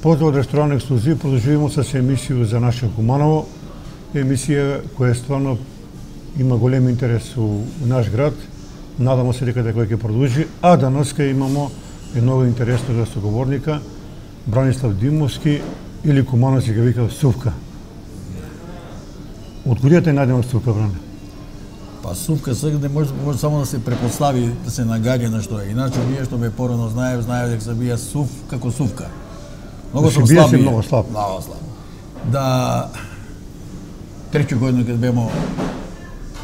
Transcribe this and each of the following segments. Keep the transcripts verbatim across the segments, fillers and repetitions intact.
Поздрав од ресторан Ексклузив, продолжуваме со емисија за наше Куманово, емисија која стварно има голем интерес у наш град. Надамо се дека дека ќе продолжи, а данеска имамо едно интересно соговорника, Бранислав Димовски, или Кумановци ќе викаат Сувка. Од куде те најдемо Сувка, Бране? Па Сувка сега не може, може само да се препостави, да се нагаѓа на што е. Иначе вие што ме порано знаев, знаев дека се бија Сув како Сувка. Многу сум слаб. Многу слаб. Многу слаб. Да треќу година кога бемо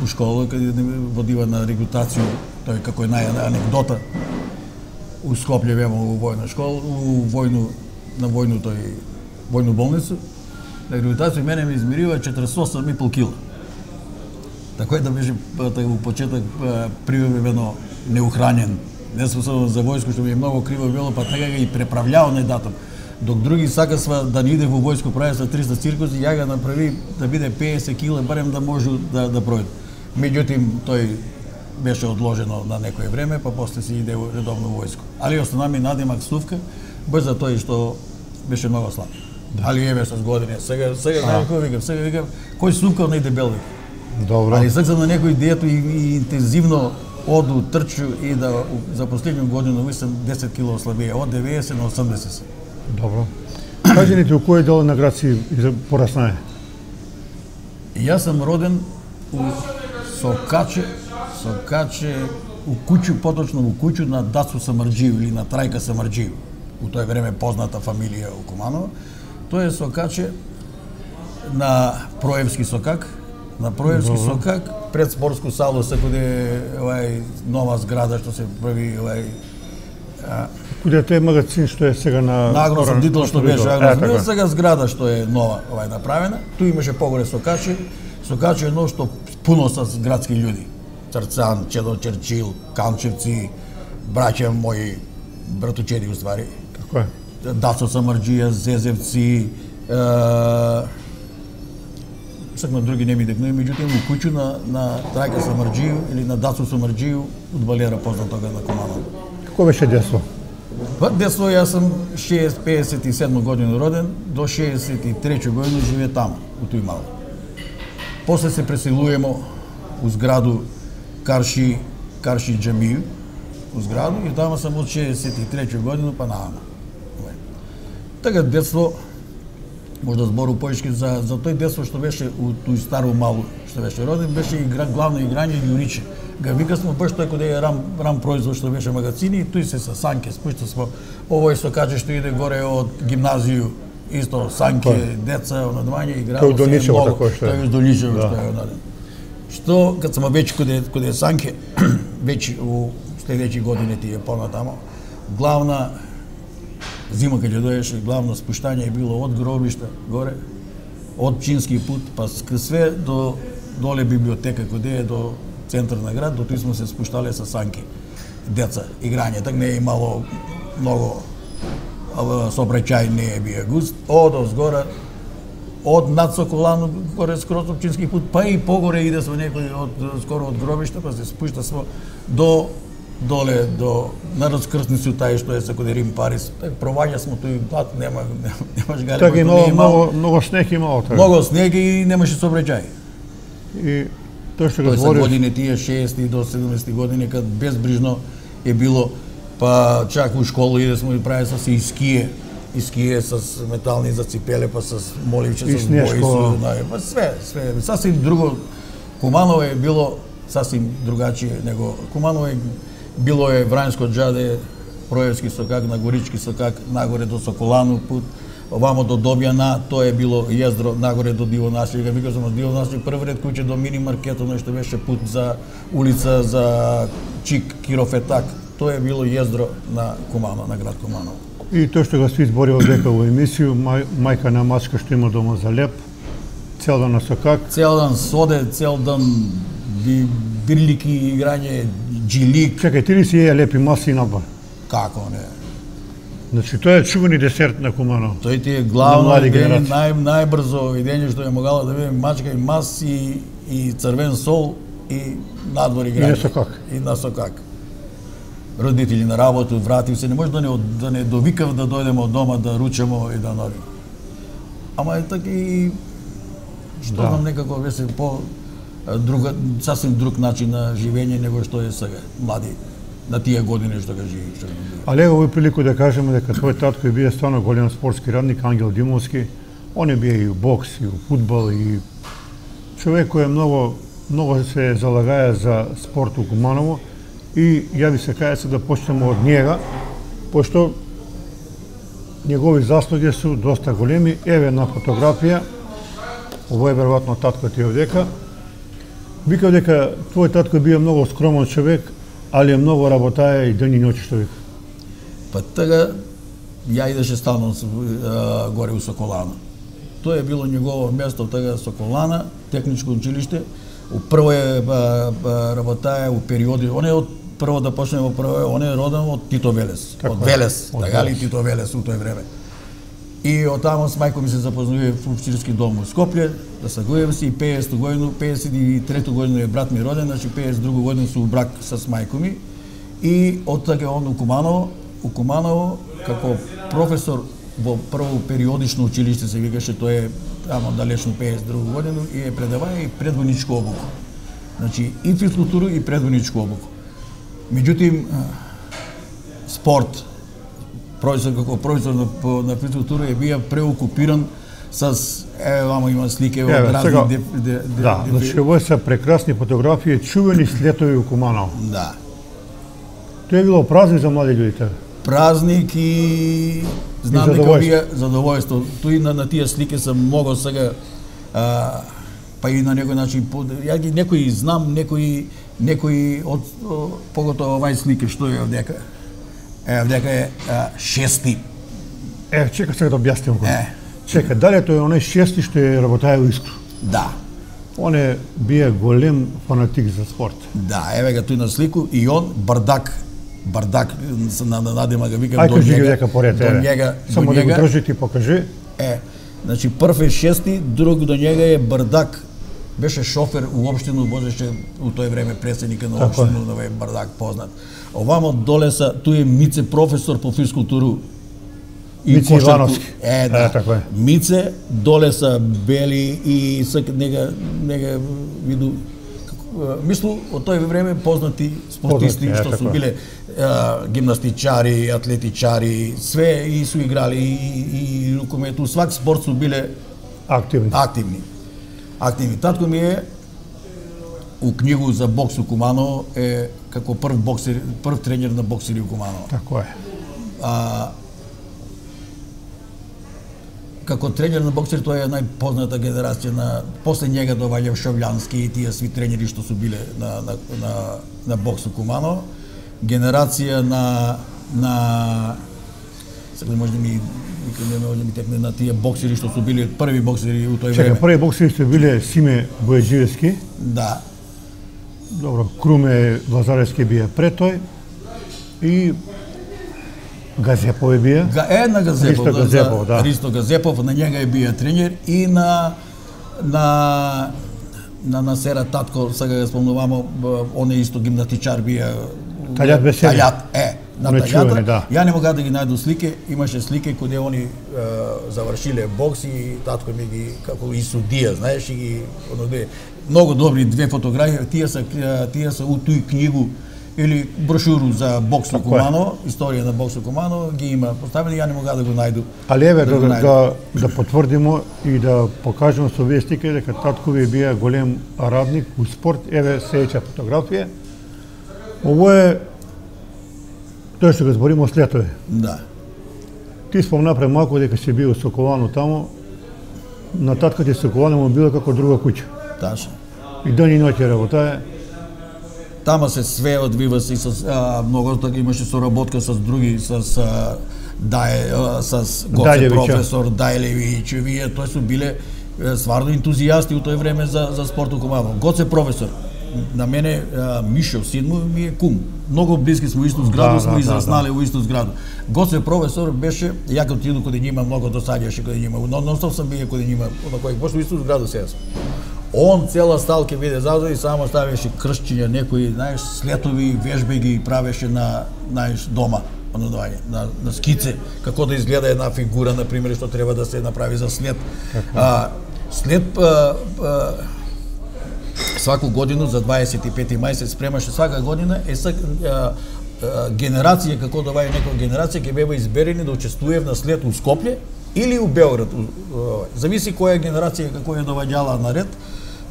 у школа, каде водива на регрутација, тој како е наја анекдота. У Скопје бемо у војна школа, у војну на војну тој војну болница. На регрутација мене ме измерива четириесет и осум и пол кила. Така да беше у почеток привремено неухранен. Не способен за војско, што ми е многу криво било, па така и преправljao на датум. Док други сакасва да не иде во војско, прави со триста циркуси, ја ga направи да биде педесет кила, барем да може да да пројде. Меѓутоа тој беше одложено на некое време, па после си иде редовно во војско. Али остана ми надимак Сувка, без за тој што беше многу слаб. Да. Али еве со години. Сега сега знаеш кој викам, сега викам кој Сувка не дебел вика. Добро. Али сакам на некој диету и, и интензивно оду трчу и да за последниот година мислам десет кила ослабија, од деветдесет на осумдесет. Добро. Кажи ни ти, у кој дел на град си пораснае? Јас сум роден у Сокаче, Сокаче, у куќу, поточно у куќу на Дацу Самарџиев или на Трајка Самарџиев. У тој време позната фамилија у Куманово. Тој е Сокаче на Проевски Сокак, на Проевски Добро. Сокак, пред спортско сало се каде овај нова зграда што се прави овај куде е магазин што е сега на на агроснабдител што беше агроснабдител, сега зграда што е нова овај направена. Ту имаше погоре Сокаче. Сокаче е едно што пуно со градски луѓе. Црцан, Чедо Черчил, Канчевци, браќа мои, братучеди уствари. Како е? Дацо Самарџија, Зезевци, е... сак на други не ми декнуи, меѓутоа у куќу на на Трајка Самарџиев или на Дацо Самарџиев удбалера познат тога на Куманово. Како беше детство? Па детство јас сум пеесет и седма година роден, до шеесет и трета година живее таму, у тој мало. После се преселуваме у зграду Карши, Карши Џамију, у зграду, и таму сум од шеесет и трета година па наама. Така детство, може да збору поишки за, за тој детство што беше у тој старо мало, што беше роден, беше игра, главно играње јуриче. Га вика смо баш тој каде е рам, рам производ што беше магазини, и тој се со санке спушта смо. Овој што каже што иде горе од гимназију, исто санке, Той. деца, онадвање, играво се Доничево, тако што е. Тој Доничево да. Што е онаден. Што, кад смо веќе каде, каде санке, веќе у следеќи години тие понатамо, главна зима каде доеше, главно спуштање е било од гробишта горе, од Пчински пут, па све до доле библиотека каде е до центар на град, до тој сме се спуштале со санки. Деца, играње, так не е имало многу сообраќај, не е бија густ. Од озгора, од над Соколано, горе скроз Пчински пут, па и погоре иде со некој од скоро од гробишта, па се спушта смо до доле до на раскрсницу тај што е со каде Рим Парис. Так проваѓа смо тој пат, нема немаш гале. Така имало многу многу снег имало така. Многу снег и немаше сообраќај. И тоа што го збориш, збориш, години тие шеесет до седумдесет години кад безбрижно е било, па чак у школа иде смо и прави со се и ские, и ские со метални заципеле, па со моливче со бои, со па све, све, сасвим друго. Куманово е било сасвим другачие него Куманово е било е Врањско џаде, Проевски Сокак, на Горички Сокак, нагоре до Соколану пут, овамо до Добјана, тоа е било јездро нагоре до Диво Наслик. Вика сум од Диво Наслик, прв ред куќе до мини маркетот, нешто беше пут за улица за Чик, Кирофетак. Тоа е било јездро на Куманово, на град Куманово. И тоа што го сви зборил дека во емисију, мај, мајка на Мачка што има дома за леп, цел дан на Сокак. Цел дан соде, цел дан би, бирлики, играње, джилик. Чекај, ти ли си еја лепи маси на бар? Како не? Значи, тоа е чувани десерт на Куманово. Тој ти е главно идење, нај, најбрзо идење што е могала да биде мачка и мас и, и црвен сол и надвор играње. И на Сокак. И на Сокак. родители на работа, вратив се, не може да не да не довикав да дојдеме од дома да ручемо и да норим. Ама е така и што Да. знам некако беше по друга сасвим друг начин на живење него што е сега млади на тие години што ga живи, што го живи. Але овој прилику да кажеме дека твој татко е бие стварно голем спортски радник, Ангел Димовски. Он е бие и у бокс, и у фудбал, и човек кој е многу многу се залагаја за спорт у Куманово и ја би се каја се да почнеме од njega, пошто негови заслуги су доста големи. Еве една фотографија, ово е веројатно татко ти овдека. Вика дека твој татко бие многу скромен човек, али е многу работаја и ден и ноќ што вика. Па така ја идеше стално а, горе у Соколана. Тоа е било негово место, така Соколана, техничко училиште. У прво е ба, ба, работаја у периоди, он е од прво да почнеме во прво, он е роден од Тито Велес, Така од е, Велес, од така ли Велес. Тито Велес у тој време. И од таму с мајко ми се запознавија во училски дом у Скопје, да сагуjem се и пеесету годину, пеесет и трета година е брат ми роден, значи пеесет и друга година су у брак с мајко ми. И од така он у Куманово, у Куманово како професор во прво периодично училиште се викаше, тоа е тамо далечно пеесет и друга година и е предаваја и предвојничку обуку. Значи и физкултуру и предвојничку обуку. Меѓутоа спорт, професор како професор на, на физкултура е бија преокупиран с еве вама има слики од Еве, разни сега, деф, де, де, Да, деф- значи овој се прекрасни фотографии, чувени слетови у Куманово. да. Тоа е било празник за млади луѓе. Празник и знам дека задоволство. вие задоволство. Тој на, на тие слики се многу сега а, па и на некој начин по- ја ги некои знам, некои некои од о, поготово овај слики што е овдека. Е, овдека е а, шести. Е, чека сега да објасним го. Е. Чека, дали тој е оној шести што е работаја у Искру? Да. Он е бие голем фанатик за спорт. Да, еве га тој на слику и он бардак бардак се на на надима га викам Ај до кажи ги njega. дека поред, До еве. njega, Само до да го njega. држи ти покажи. Е, значи прв е шести, друг до njega е Бардак. Беше шофер у општину, возеше у тој време председника на Така е. општину, на овој Бардак познат. Овамо доле са, тој е Мице професор по физкултуру. Мице кошарку. Ивановски. Е, да. Е, така е. Мице, доле са Бели и сак нега нега виду како, е, мислу од тој време познати спортисти Познати, е, што така су е. биле е, гимнастичари, атлетичари, све и су играли и, и, и рукомету, свак спорт су биле Активни. активни. Активни. Татко ми е у книгу за бокс у Куманово е како прв боксер, прв тренер на боксери у Куманово. Така е. А, како тренер на боксери тоа е најпозната генерација на после njega доаѓа Шовљански и тие сви тренери што су биле на на на, на бокс у Куманово. Генерација на на сега може да ми никој не може да ми текне на тие боксери што су биле први боксери у тој Чека, време. први боксери што биле Симе Бојаджиевски, Да. добро, Круме Лазаревски бие пред тој и Газепов е бие. Га е на Газепов, Ристо Газепов, да. Ристо Газепов, на njega е бија тренер и на на на на Сера татко, сега го спомнувамо, б- он е исто гимнастичар бија. Таљат Бесели. Таљат, е, на Он е Таљата. чувен, да. Ја не мога да ги најду слике, имаше слике каде они е, завршиле бокс и татко ми ги како и судија, знаеш, и ги оно де многу добри две фотографии, тие се е, тие се у тој книгу или брошуру за бокс у Така е. Куманово, историја на бокс у Куманово ги има поставени, ја не мога да го најду. Али еве Да да, го да, најдем. да, да потврдимо и да покажеме со овие слики дека татко ви бие голем радник у спорт. Еве следеќа фотографија. Ово е тоа што го збориме след тоа. Да. Ти спомна пред малку дека си бил Соколано таму. На татка ти Соколано му било како друга куќа. Ташно. И ден и ноќ работае. Тама се све одвива се и со а, многу така имаше соработка со други со а, Дај а, с Гоце Дајлевиќа. професор Дајлевиќ, вие тоа су биле е, стварно ентузијасти у тој време за за спорт у Куманово. Гоце професор на мене а, Мишо син му ми е кум. Многу блиски сме у исту зграду, Да, сме да, израснале да, у исту зграду. Гоце професор беше, ја кога отиду каде њима многу досаѓаше каде њима. Но non стоп сам бие каде њима, на кој пошто у исту зграду сега сме. Он цела стал ќе биде задој и само ставеше кршчиња, некои, знаеш, слетови, вежби ги правеше на, знаеш, дома, на, на скице, како да изгледа една фигура, на пример, што треба да се направи за след. А, след а, а, сваку годину за дваесет и пети мај се спремаше свака година е сак, а, а, генерација, како да ваја некоја генерација ќе бева изберени да учествува на след у Скопје или у Белград. Зависи која генерација како е доваѓала наред.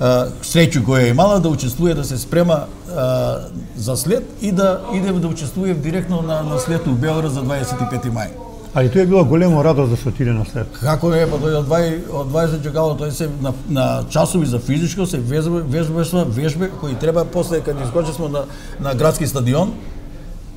Среќу која е имала да учествува да се спрема а, за след и да иде да учествува директно на, на след у Белград за дваесет и пети мај. Али тоа е било големо радост да се отиде на след. Како е, па тој од дваесет чекало, тој се на, на часови за физичко се вежба, вежба, вежбе кои треба после кога искочи смо на, на градски стадион,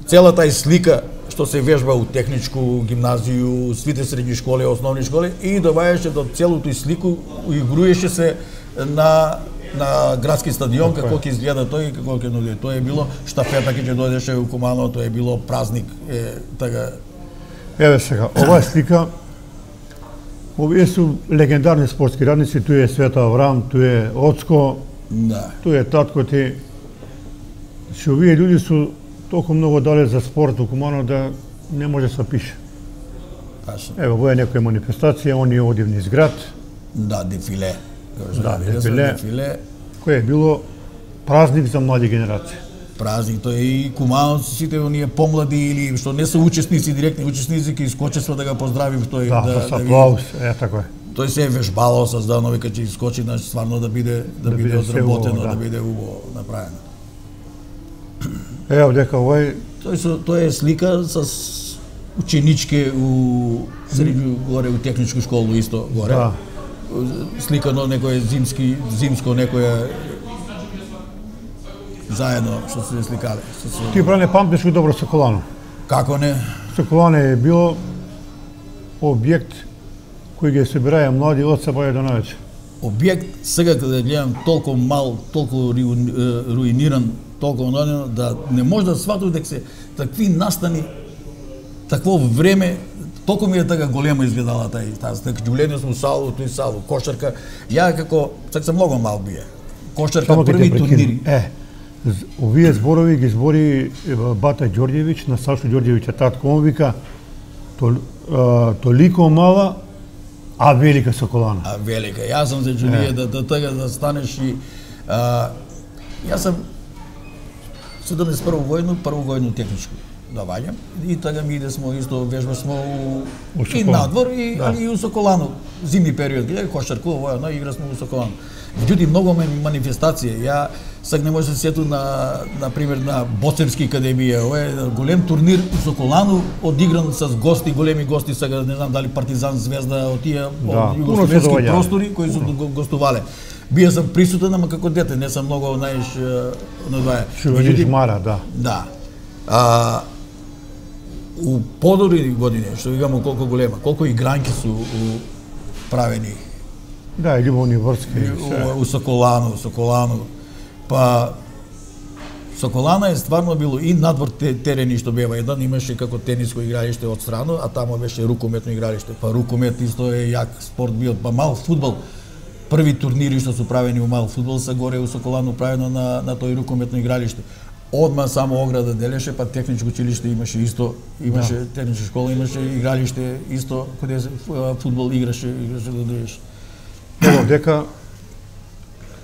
целата и слика што се вежба у техничку гимназију, сите средни школи, основни школи и доваѓаше до целото и слику, игруеше се на на градски стадион како ќе изгледа тој и како ќе дојде. Тоа е било штафета ќе дојдеше у Куманово, тоа е било празник, е така. Еве сега, оваа слика, овие су легендарни спортски радници, тој е Света Аврам, тој е Оцко, да. Тој е татко ти. Че овие луѓе су толку многу дале за спорт у Куманово да не може да се пише. Ево, во е некоја манифестација, они оди низ град. Да, дефиле. Да, дефиле, кој е било празник за млади генерации. Празник, тој е и Кумановци, сите оние помлади или што не се учесници, директни учесници, ќе искочества да го поздравим тој. Да, да, со аплауз, е така е. Тој се е вежбало со зданови кога ќе искочи, значи стварно да биде да, да биде одработено, да. да биде убаво направено. Ево дека овој тој со тој е слика со ученички у средно горе у техничку школу исто горе. Да. Слика на некој зимски зимско некоја заедно што се сликале. Ти бране памтиш добро Соколано? Како не? Соколано е било објект кој ги собираа млади од сабаја до навечер. Објект сега кога гледам толку мал, толку руиниран, толку онадено да не може да сватам дека се такви настани такво време. Толку ми е така голема изгледала тај таа така џуление сум салу, тој салу, кошарка. Ја како сега сум многу мал бие. Кошарка први турнири. Е, овие зборови ги збори Бата Ѓорѓевиќ на Сашо Ѓорѓевиќ татко, он вика тол, а, толико мала, а велика Соколана. А велика. Јас сум за џулие да да така да станеш и а, јас сум седумдесет и прво војно, прво војно техничко да ваѓам и така ми иде смо исто вежба смо у, у и надвор и да. Али и у Соколано зимни период кога кошаркува војано игра смо у Соколано. Меѓутоа многу манифестации. Ја сега не може да се сету на на пример на Боцевски академија, ова е голем турнир у Соколано одигран с гости, големи гости, сега не знам дали Партизан, Звезда, од тие од југословенски простори кои су гостувале. Бија сум присутен, ама како дете, не сум многу, знаеш, на дваја. Меѓутоа мара, да. Да. А у подобри години, што викамо колку голема, колку игранки су у, правени. Да, и Љубовни врски. У, у Соколано, Соколано. Па Соколана е стварно било и надвор терени што бева еден, имаше како тениско игралиште од страна, а тамо беше рукометно игралиште. Па рукомет исто е јак спорт бил, па мал фудбал. Први турнири што су правени у мал фудбал се горе у Соколано правено на на тој рукометно игралиште. Одма само ограда делеше, па техничко училиште имаше исто, имаше да. Техничка школа, имаше игралиште исто, каде фудбал играше, играше да дојдеш. Ево дека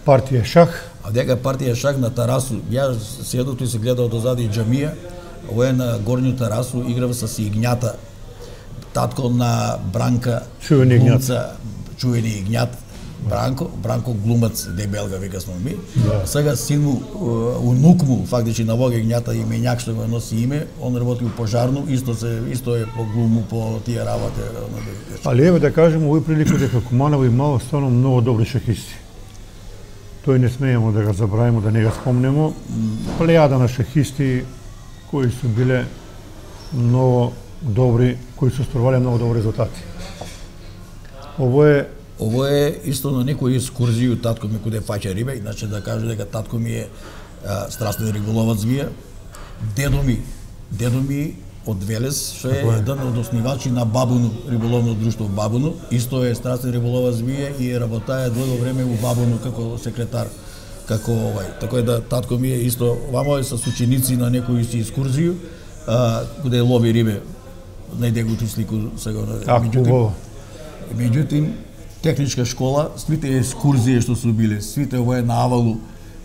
партија шах. А дека партија шах на Тарасу, ја седото и се гледал дозади џамија, ова е на горњу Тарасу, играв со Игњата, татко на Бранка, чувени Игњат. Чувени Игњат, Бранко, Бранко глумац, дебелга вика сме ми. Да. Сега син му, унук му, фактичи на Вога Игњата именјак што го носи име, он работи у пожарно, исто се исто е по глуму по тие работи. Али еве да кажеме овој прилика дека Куманово имало стварно многу добри шахисти. Тој не смееме да го забравиме, да не го спомнеме. Плејада на шахисти кои су биле многу добри, кои су остварувале многу добри резултати. Ово е Ово е исто на некој екскурзија, татко ми куде фаќа риба, иначе да кажа дека татко ми е а, страстен риболовац вие. Дедо ми, дедо ми од Велес, што е еден од основачи на Бабуну, риболовно друштво Бабуну. Исто е страстен риболова звие и работае долго време у Бабуну како секретар, како овај. Така е да татко ми е исто вамо е со ученици на некои си екскурзија, а, каде лови рибе. Најде го слику сега. Меѓутоа, меѓутоа техничка школа, сите екскурзии што су биле, сите ова е на Авалу,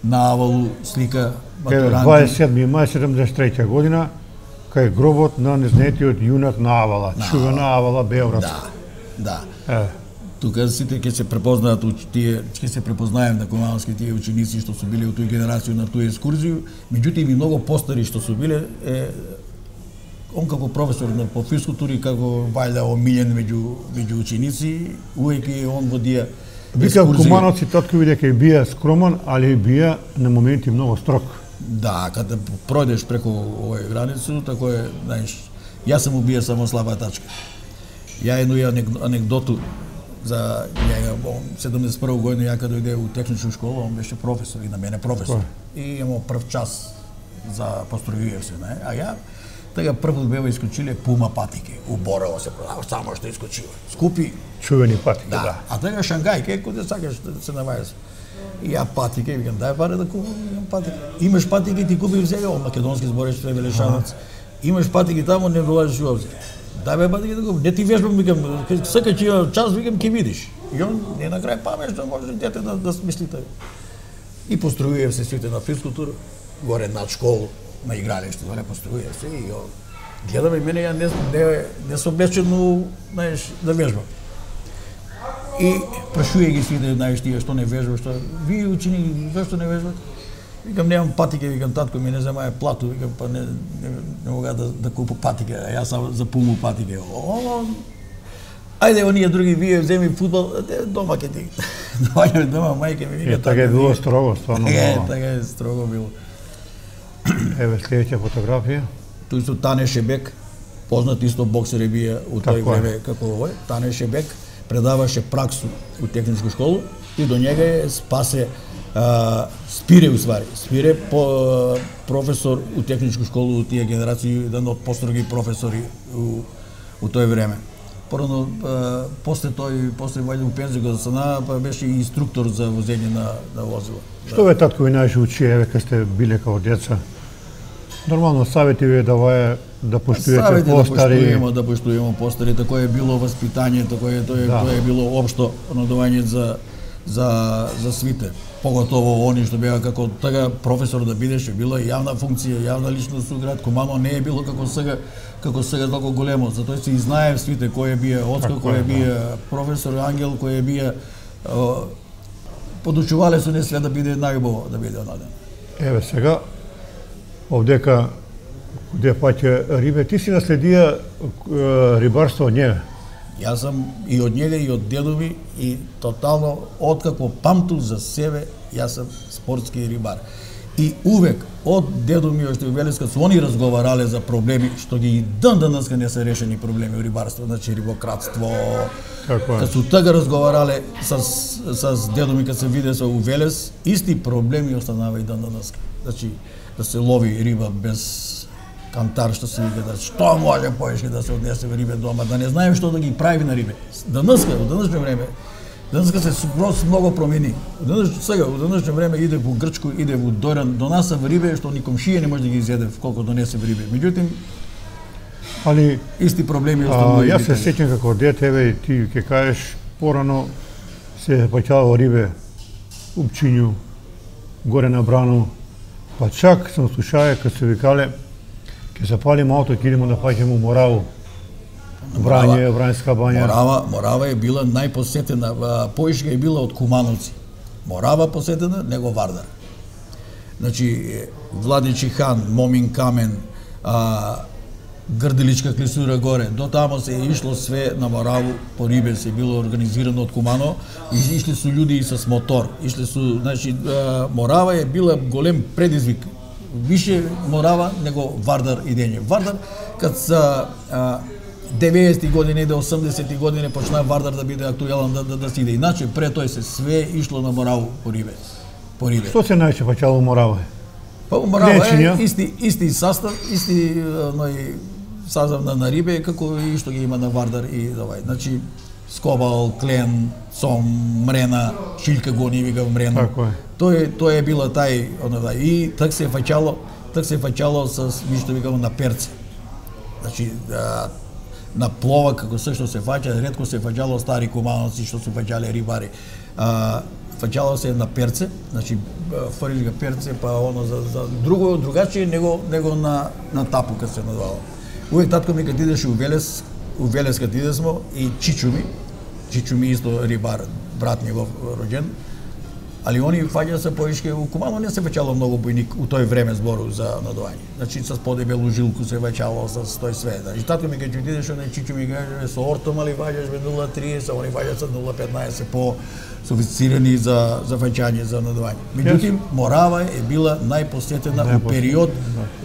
на Авалу слика матуранти. дваесет и седми мај седумдесет и трета година, кај гробот на незнетиот јунак на Авала, на чувена Авала Београдска. Да, да. Е. Тука сите ќе се препознаат тие, ќе се препознаем на кумановски тие ученици што су биле од тој генерација на тој екскурзија, меѓутоа и многу постари што су биле, е, он како професор на по физкултури, како вајда омилен меѓу меѓу ученици, увеќе он водија Вика кумановци татко бидејќи бија скромен, али бија на моменти многу строг. Да, кога пројдеш преку овој границу, тако е, знаеш, јас сум убија само слаба тачка. Ја едно анекдоту за ја седумдесет и прва година ја кога дојде у техничка школа, он беше професор и на мене професор. И имamo прв час за постројував се, не? А ја така прв бева искочиле пума патике, у Борово се продава, само што искочила. Скупи чувени патике, да. да. А така Шангајке, кога сакаш да се навајаш. И ја патике, викам, дај пари да купам, имам патике. Имаш патике, ти купи сега, о македонски збореш, тоа е велешанец. Имаш патике таму, не долажиш уопšte. Дај бе патике да купам. Не ти вежбам, викам, сака ќе имам час, викам, ќе видиш. И он не на крај памешно може дете да да смисли тоа. И постројував се сите на физкултура, горе над школу, на игралиште, доле постројував се и гледаме мене ја не не не се облечено, знаеш, да вежбам. И прашуе ги сите, знаеш, тие што не вежбаш, што вие учени зашто не вежбате? Викам немам патике, викам татко ми не земае плату, викам па не не, не мога да да купам патике, а јас сам за пуму патике. О, ајде оние други вие земи фудбал, дома ќе ти. Доаѓаме дома, мајка ми вика. Така е било строго, стварно. Е, така е строго било. Еве следеќа фотографија. Тој со Тане Шебек, познат исто боксер е бија у тој време како овој. Тане Шебек предаваше праксу у техничка школа и до njega е спасе а, Спире уствари. Спире по професор у техничка школа у тие генерации, еден од построги професори у, у тој време. Порано после тој после вајде у пензија го засана, па беше и инструктор за возење на на возила. Што ве татко ви најше учи, еве кога сте биле како деца? Нормално савети ви давае да поштуете постари. Да поштуеме, да поштуеме постари, тако е било воспитание, тако е тоа е, да. Тоа е било општо надување за за за свите. Поготово они што беа како така професор да бидеше, била јавна функција, јавна личност у град Кумано, не е било како сега, како сега толку големо. Затоа се и знае свите кој е бија Оцко, кој е бија професор Ангел, кој е бија подучувале со не све да биде најубаво да биде онаден. Еве сега овдека каде паќе рибе, ти си наследија рибарство од njega. Јас сум и од njega и од дедо ми и тотално откако памту за себе, јас сум спортски рибар. И увек од дедо ми уште Велеска со они разговарале за проблеми што ги и ден денеска не се решени проблеми во рибарство, значи рибократство. Кога су така разговарале с с дедо ми кога се виде со Велес, исти проблеми останава и ден денеска. Значи да се лови риба без кантар, што се вика, да што може поешки да се однесе рибе дома, да не знаеме што да ги прави на рибе. Денеска, во денешно време, денеска се скроз многу промени. Денес сега, во денешно време иде во Грчко, иде во Доран, донаса в рибе што ни комшија не може да ги изеде колку донесе в рибе. Меѓутоа, али исти проблеми остануваат. Јас се сеќам како дете, еве ти ќе кажеш порано се паќало рибе у Пчињу, горе на Брано, па чак сам слушаја кога се викале ќе запалиме ауто, ќе идеме да паѓаме у Мораву. Врање, Врањска бања. Морава, Морава е била најпосетена, поишка е била од Кумановци. Морава посетена, него Вардар. Значи, Владичи хан, Момин Камен, а, Грделичка клисура горе, до тамо се е ишло све на Мораву, по рибе се било организирано од Кумано, и ишле су луѓе и с мотор. Ишле су, значи, Морава е била голем предизвик. Више Морава него Вардар идење. Вардар, кад са деветдесети години до осумдесети години почна Вардар да биде актуелен да, да, да се иде. Иначе пред тој се све ишло на Мораву по рибе. По рибе. Што се најче паќало Морава? Па Морава е исти исти састав, исти ној сазавна на рибе како и што ги има на Вардар и овај. Значи скобал, клен, сом, мрена, шилка го ни вика мрена. Така е. Тој тој е била тај онова и так се фаќало, так се фаќало со што викамо на перце. Значи а, на плова како се што се фаќа, ретко се фаќало стари кумановци што се фаќале рибари. А, фаќало се на перце, значи фрлиш га перце, па оно за, за друго другачие него него на на тапу кога се надвало. Увек татко ми кога идеше у Велес, у Велес кога идесмо и Чичу ми, Чичу ми исто рибар, брат негов роđен, али они фаќа се поишке у Кумано не се фаќало многу бојник у тој време збору за надување. Значи со подебелу жилку се фаќало со тој све. Значи татко ми кога идеше на Чичу ми каже со ортом али фаќаш бе нула тридесет, они фаќаат со нула петнаесет по софицирани за за фаќање за надување. Меѓутоа Морава е била најпосетена у период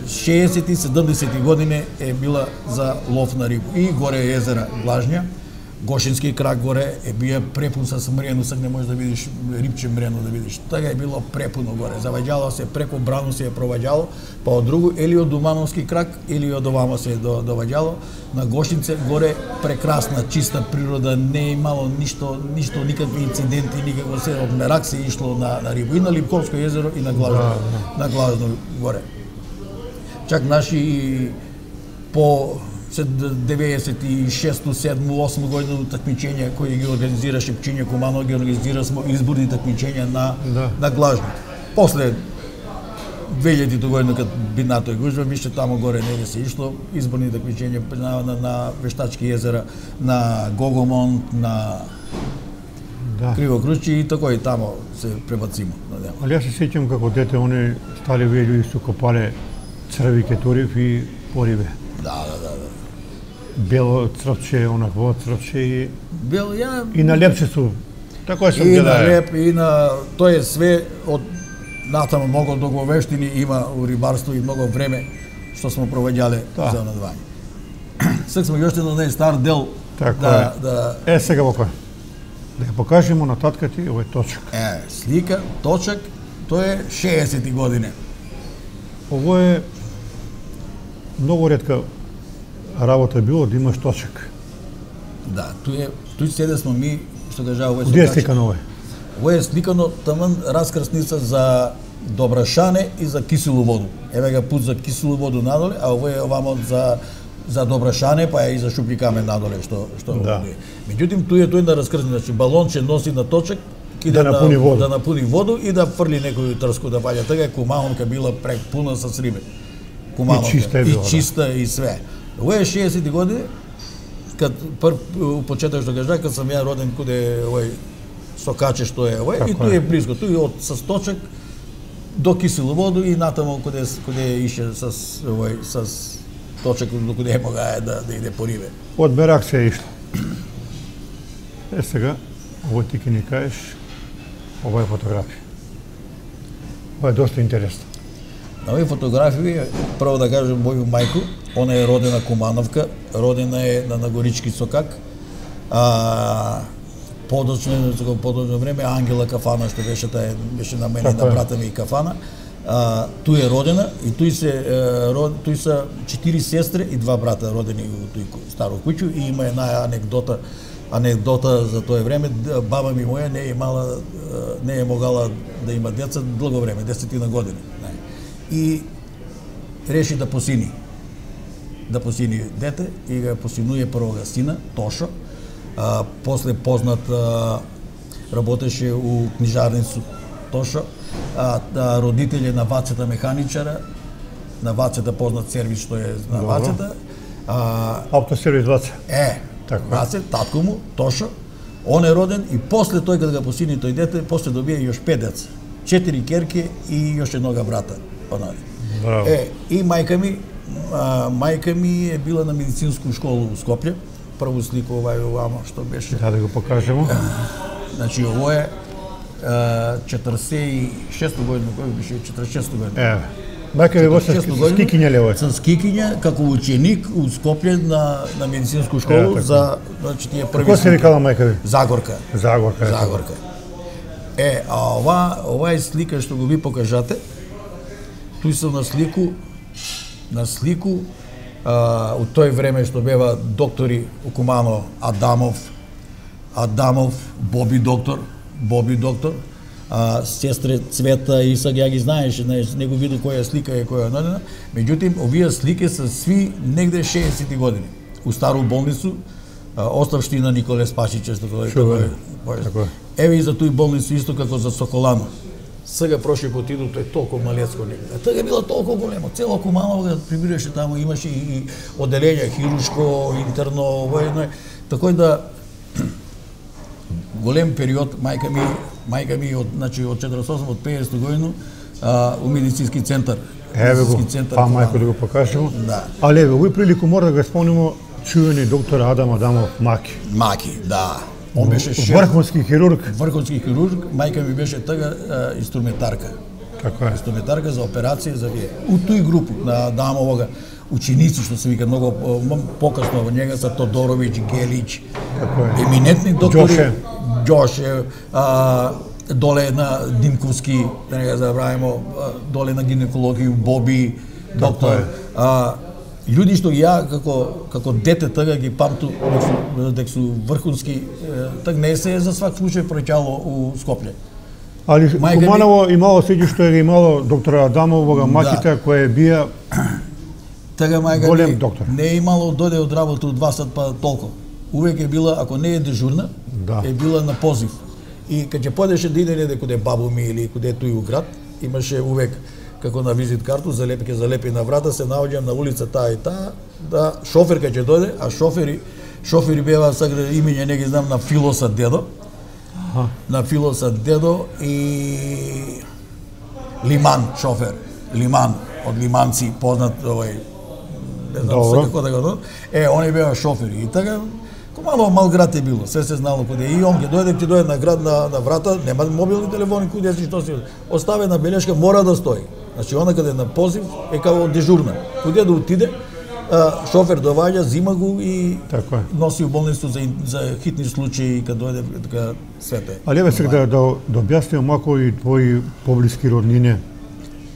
шеесетти седумдесетти години е била за лов на рибу. И горе е езера Глажња, Гошински крак горе е бија препун со мрено, сак не можеш да видиш рибче мрено да видиш. Така е било препуно горе. Заваѓало се преку Брану се е проваѓало, па од другу или од Думановски крак или од овамо се до доваѓало. На Гошинце горе прекрасна чиста природа, не е имало ништо, ништо никакви инциденти, никако се од Мерак се ишло на на рибу и на Липковско езеро и на Глажно, на Глажно горе. Чак наши по деветдесет и шесто, седмо, осмо година такмичења кои ги организираше Пчиња Кумано, ги организирасмо изборни такмичења на да. на Глажно. После две илјадити година кога бинато и гужва, више тамо горе не се ишло изборни такмичења на, на, на Вештачки езера, на Гогомонт, на да. Кривокручи и тако и тамо се пребацимо. Али јас се сеќам како дете они стали луѓе што копале црви кетурив и порибе. Да, да, да, да. Бело црвче, онакво црвче и Бел ја и на лепче су. Така сум и гледал. на леп и на тоа е све од натаму многу договештини има у рибарство и многу време што смо провеѓале да. за надување. Сак сме јоште на нај стар дел така да, е. да Е сега вака. Да ја покажеме на татка ти овој точак. Е, слика, точак, тоа е шеесетти години. Ово е многу ретка работа било да имаш точак. Да, тој е, тој седе смо ми, што кажа овој Где е сликано овој? Ово е сликано таман раскрсница за Добрашане и за Киселу воду. Еве га пут за Киселу воду надоле, а ово е овамо за за Добрашане, па е и за Шупли камен надоле што што да. Меѓутоа тој е тој на раскрсница, значи балонче носи на точак да напуни воду. Да напуни воду и да фрли некој трско да ваѓа. Така е Кумановка била препуна со риби. Кумановка. И чиста е била, и чиста да. И све. Ово е шеесетти години, кад прв у почеток што кажа, кад сам ја роден куде овој Сокаче што е овој и тој е близко, тој од со точак до Киселу воду и натаму куде куде ише со овој со точак до куде мога да да иде по рибе. Од Берак се ишло. Е сега овој ти ке ни кажеш ова е фотографија. Ова е доста интересно. На овие фотографии, прво да кажем моју мајку, она е родена Кумановка, родена е на Нагорички Сокак. А подоцно во подоцно време Ангела Кафана што беше таа беше на мене на брата ми и Кафана. А тој е родена и тој се род, тој се четири сестри и два брата родени во тој старо куќу и има една анекдота анекдота за тоа време, баба ми моја не е имала не е могала да има деца долго време, десетина години. И реши да посини. Да посини дете и го посинуе првога сина, Тошо. А, после познат а, работеше у книжарницу Тошо. А, а родители на Вацета механичара, на Вацета познат сервис што е на Вацета. А, Автосервис Ваца. Е, така. Вацет, татко му, Тошо. Он е роден и после тој кога го посини тој дете, после добија још пет деца. Четири керки и још еднога брата. Браво. Е, и мајка ми, а, мајка ми е била на медицинску школу у Скопје. Прво слика ова е овамо што беше. Да, да го покажеме. Значи ово е четресет и шеста година, кој беше четресет и шеста година. Е. Мајка ви во со скикиња лево. Со скикиња како ученик у Скопје на на медицинску школу е, за значи тие први. Како се викала мајка ви? Загорка. Загорка. Загорка. Е, а ова ова е слика што го ви покажате. Тој се на слику, на слику а, у тој време што бева доктори у Куманово, Адамов, Адамов, Боби доктор, Боби доктор, а, сестре Цвета и сега ја ги знаеш, не го види која слика е која е, меѓутоа овие слики се сви негде шеесетти години. У стару болницу, оставштина Николе Спасич, што кој е. Еве и за тој болницу исто како за Соколано. Сега прошли пат иду, тој толку малецко негде. А тога било толку големо, цело Куманово да прибираше таму, имаше и оделење хируршко, интерно, воено. Така да голем период мајка ми, мајка ми од значи од четириесет и осум од пеесетта година а, у медицински центар. Еве го, па мајко да го покажемо. Да. Але еве, овој прилику мора да го спомнимо чуени доктор Адам Адамов Маки. Маки, да. Он беше шеф, врховски хирург. Врховски хирург, мајка ми беше тага инструментарка. Како е? Инструментарка за операција за вие. У тој групу на Адамовога ученици што се вика многу покасно во njega са Тодоровиќ, Гелич, еминентни доктори. Ѓоше. Ѓоше, а, доле на Димковски, да не го забравимо, доле на гинекологија Боби, доктор. А, луѓе што ја како како дете тога ги памту дека су врхунски, так не се за свак случај проќало у Скопје. Али Куманово ми... имало сеќа е имало доктор Адамовога Маките, да. Која бија Тага мајка голем не, доктор. Не е имало дојде од работа од два сат па толку. Увек е била, ако не е дежурна, да. Е била на позив. И кога ќе појдеше да иде неде каде бабу ми или каде тој у град, имаше увек како на визит карту, залепи ќе залепи на врата, се наоѓам на улица таа и таа, да шоферка ќе дојде, а шофери шофери беа сега имење не ги знам на Филоса дедо. Аха. На Филоса дедо и Лиман шофер. Лиман од Лиманци познат овој не знам се како да го. Е, они беа шофери и така Куманово мал град е било, се се знало каде и он ќе дојде, ќе дојде на град на, на врата, нема мобилни телефони, куде си што си. Оставена белешка мора да стои. Значи она каде на позив е како дежурна. Куде да отиде, а, шофер доаѓа, зима го и така носи у болницу за за хитни случаи кога дојде така свете. Ali evo сега да да, да објасним малку и твои поблиски роднини,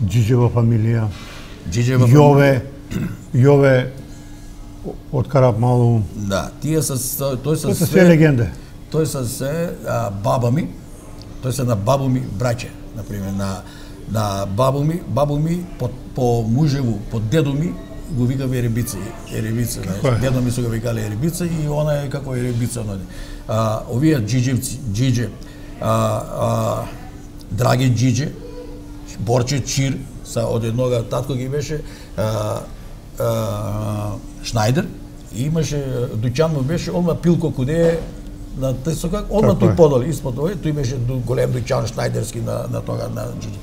Џиџева фамилија, Џиџева Јове, Јове од Карапмалу. Да, тие се тој се се се легенде. Тој се се а, баба ми, тој се на бабу ми браќе, на пример на на бабу ми, бабу ми по, по мужеву, по дедо ми го викаве Еребица, Еребица, значи дедо ми се го викале Еребица и она е како Еребица, нали. А овие џиџевци, џиџе, а, а Драги џиџе, Борче Чир, са од еднога татко ги беше а, а, Шнајдер и имаше дуќан му беше одма Пилко куде на тој со как одма тој подоли испод овој, тој беше голем дуќан Шнајдерски на на тога на џиџе.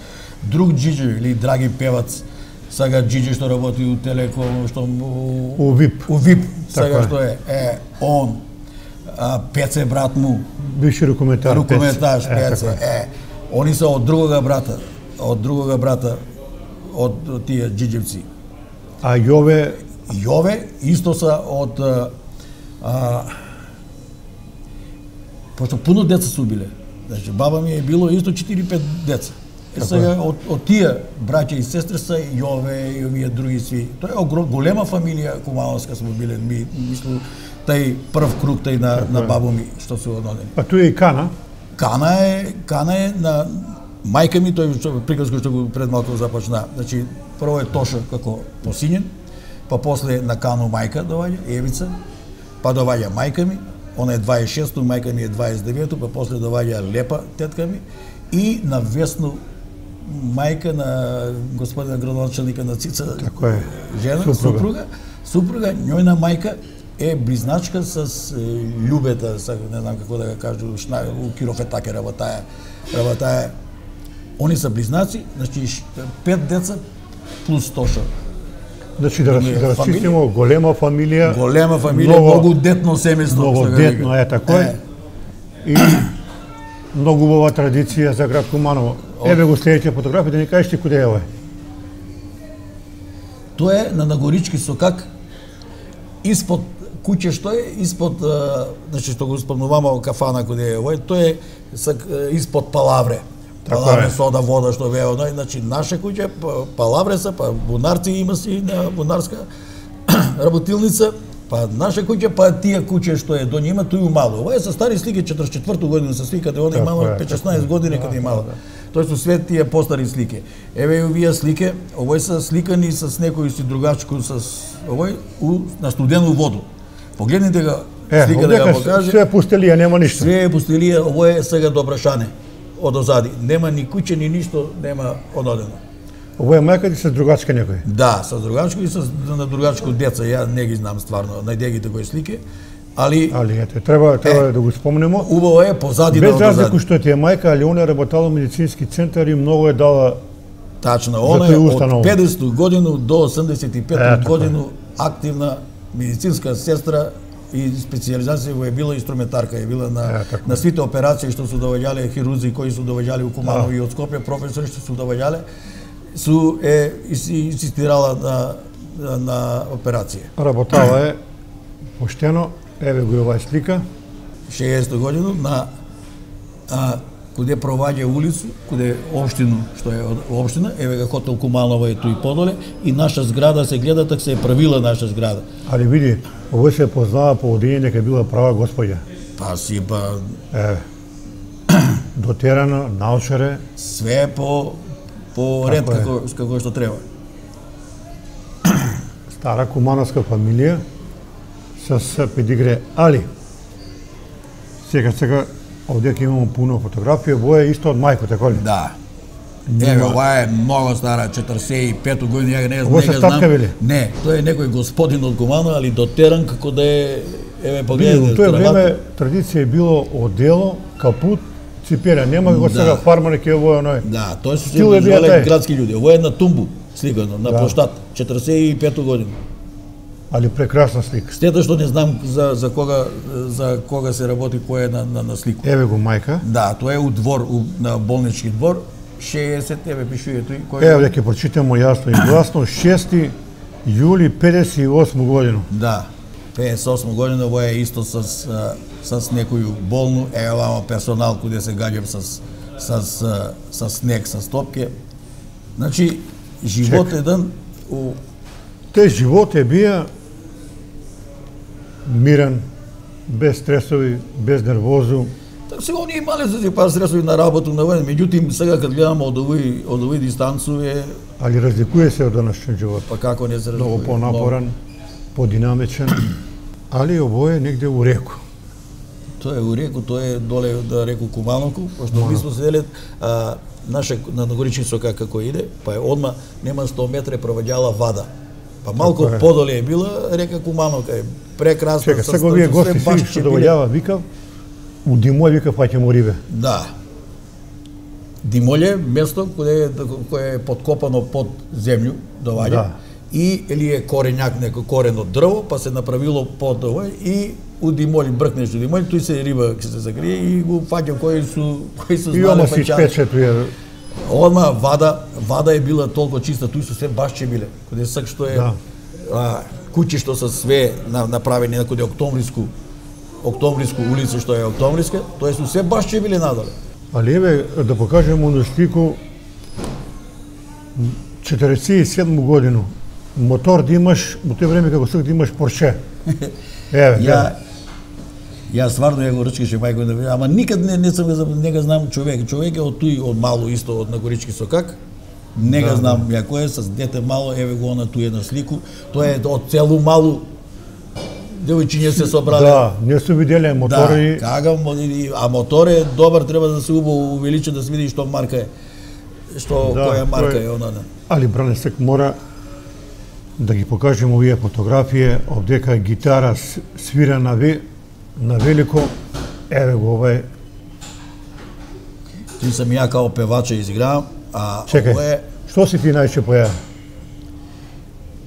Друг џиџе или драги певац, сега џиџе што работи у Телеком, што у ВИП. У ВИП, сега што е, е он, а, Пеце брат му, бивши рукометар, рукометаш Пеце, е, е, они се од другога брата, од другога брата од, од тие џиџевци. А Јове Јове исто са од а, а, пошто пуно деца су биле. Значи баба ми е било исто четири-пет деца. Е сега од, од тие браќа и сестри са Јове и овие други сви. Тоа е огром, голема фамилија кумановска сме биле. Ми мислам тај прв круг тај на на бабу ми што се однодени. А тој е и Кана? Кана е Кана е на мајка ми, тој приказка што го пред малку започна. Значи прво е Тоша како посинен, па после на Кану мајка доаѓа Евица, па доаѓа мајка ми, она е дваесет и шесто, мајка ми е дваесет и девето, па после доаѓа Лепа тетка ми и на Весно мајка на господина градоначалника на Цица, така е, жена, супруга. супруга, супруга, њојна мајка е близначка с Љубета, не знам како да го кажу, у Кирофетаке работаја, работаја. Они се близнаци, значи пет деца плюс Тоша. Значи да расчистимо голема фамилија, голема фамилија, многу, многу детно семејство, многу детно е тако е. И многу убава традиција за град Куманово. Еве го следеќа фотографија, да ни кажеш ти куде е овој? Тоа е на Нагорички сокак, испод куќе што е, испод, значи што го спомнуваме кафана куде е овој, тоа е испод Палавре. Палавре сода, вода што беа, значи наше куќе, Палавре са, па бунарци има си на бунарска работилница, па наша куќа, па тие куќе што е до нима, тој умало. Ова е со стари слики, четридесет и четврту година се сликате, она имало петнаесет години каде имало. Тоа се све тие постари слики. Еве и овие слики, овој се сликани с некој си другачко, с овој у, на студену воду. Погледнете го, е, слика да го покаже. Све е пустелија, нема ништо. Све е пустелија, овој е сега до Брашане, од озади. Нема ни куќе, ни ништо, нема ододено. Овој е мајка ти с другачка некој? Да, со другачко и со на другачко деца, ја не ги знам стварно, најдегите кои слики, али Али ете, треба треба е, да го спомнемо. Убаво е позади без разлику што ти е мајка, али она работала во медицински центар и многу е дала. Тачно, она е од педесету годину до осемдесет и пету годину активна медицинска сестра и специјализација во е била инструментарка, е била на е, на сите операции што се доваѓале, хирурзи кои се доваѓале у Куманово и од Скопје, професори што се доваѓале, су е инсистирала на на, на операција. Работала е поштено, еве го оваа слика. шеесета година на а, куде проваѓа улицу, куде општина, што е општина, еве га хотел Куманово е тој подоле и наша зграда се гледа така се е правила наша зграда. Али види, овој се познава по одење дека била права господја. Па си па Еве. Дотерано, научаре. Све по по ред како како што треба. Стара кумановска фамилија с педигре, али сега сега овде ќе имаме пуно фотографија, во е исто од мајко, така ли? Да. Еве, ова е многу стара, четридесет и пета година, ја не, не знам. Вели? Не, тој е некој господин од Куманово, али дотеран како да е, еве погледнете. Во тој време традиција е било одело, капут, ципера, нема како сега фармари ќе во оној. Да, тоа се се градски луѓе. Ова е на тумбу сликано, на площад, четридесет и пета година. Али прекрасна слика. Стета што не знам за за кога за кога се работи кој е на на, на слику. Еве го мајка. Да, тоа е у двор, у, на болнички двор, шеесет, еве пишува тој кој. Еве ќе прочитаме јасно и гласно, шести јули педесет и осма година. Да. педесет и осма година, ова е исто с с некој болну, е оваа персонал куде се гаѓам с с с снег, с топке. Значи живот Чек. еден у Те живот е бија мирен, без стресови, без нервозу. Така сега оние имале се си пар стресови на работа на воен, меѓутоа сега кога гледаме од овој од овој дистанцу е. Али разликува се од данашниот живот. Па како не се разликува? Многу понапорен, подинамичен, али овој е негде у реку. Тоа е у реку, тоа е доле да реку Кумановку, пошто ми сме седеле а, наша на Нагорички сокак како иде, па е одма нема сто метри проваѓала вада. Па малку е. Подоле е била река Кумановка, е прекрасна. Чека, сега вие гости си што доволјава, викав, у Димољ викав паќамо рибе. Да. Димољ е место кое кое е подкопано под земју, доваѓа. Да. И или е коренјак, некој корен од дрво, па се направило под овој и у Димољ бркнеш у Димољ, тој се риба ќе се закрие и го фаќам кои су кои су знаеле. И ома си спече тој. Одма вада, вада е била толку чиста, тој се се башче биле. Каде сак што е да. а, куќи што се све направени на каде Октомвриску, Октомвриску улица што е Октомвриска, тоа се се башче биле надоле. Али еве да покажеме на слику четиридесет и седма година. Мотор да имаш, во тој време како сак да имаш Порше. Еве, ја Ја стварно ја го ручкаше мајко, ама никад не не сум не го знам човек. Човек е од тој од мало исто од Нагорички сокак. Не го знам ја кој е с дете мало, еве го на туе на слику. Тоа е од целу малу девојчиња се собрале. Да, не се виделе мотори. Да, кага, а мотор е добар, треба да се убаво увеличи да се види што марка е. Што да, која марка е, е она. Али Бранесек мора да ги покажеме овие фотографии, овдека гитара свира на ве на велико, еве го овој. Ти сам ја као певача изигравам, а Чекай, ово е... што си ти најче поја?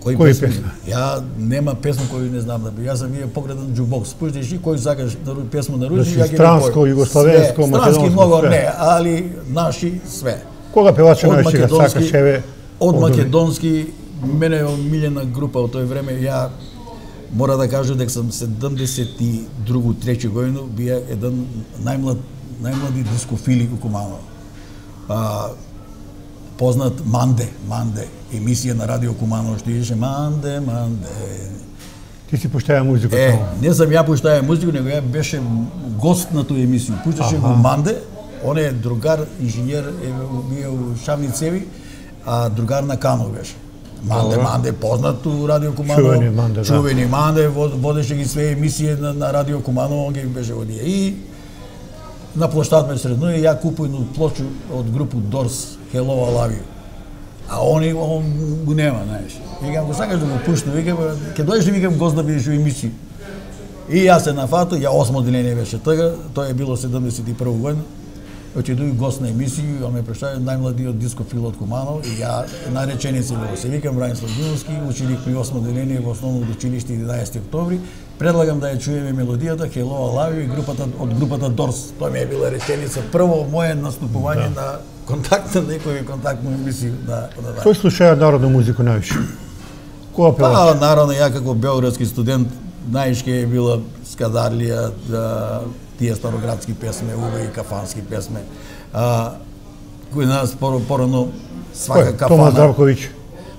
Кој, Кој песма? песма? Ја нема песма кој не знам да би. Јас сам вие погредан джукбокс. Пуштиш и кој сакаш да песма на руски, ја ги странско, југославенско, македонско, много све. Не, али наши све. Кога певача најче го сакаш, еве? Од македонски, мене е омилена група од тој време, ја мора да кажам дека сум седумдесет и друга трети година бија еден најмлад најмлади дискофили у Куманово. А, познат Манде, Манде, емисија на Радио Куманово што идеше Манде, Манде. Ти си пуштаја музика Е, таму? не сам ја пуштаја музика, него ја беше гост на тој емисија. Пушташе го Манде, он е другар, инженер, е бил у Шавницеви, а другар на Канов беше. Манде, Манде, познат у Радио Куманово. Чувени Манде, да. Чувени Манде, водеше ги све емисии на, на Радио Куманово, он ги беше водија. И на площад ме средно и ја купуј на плочу од групу Дорс, Hello I Love You. А они, он го нема, знаеш. Викам, го сакаш да го пуштам, викам, ке дојдеш ли, викам, гост да бидеш у емисија. И јас се нафату, ја осмо деление беше тага, тоа е било седумдесет и прва година. Отидој гост на емисија, он ме представи најмладиот дискофил од Куманово и ја на реченица било. Се викам Бранислав Димовски, ученик при осмо деление во основно училиште единаесети октомври. Предлагам да ја чуеме мелодијата Hello I Love You и групата од групата Дорс. Тоа ми е била реченица прво мое наступување да. на контакт на некој контактно емисија на на. Кој слушаја народна музика највише? Која певач? Па, наравно, ја како белградски студент, најшке е била Скадарлија, да, тие староградски песме, уве и кафански песме. А, кој нас порано свака Кој? кафана. Томас Здравковиќ.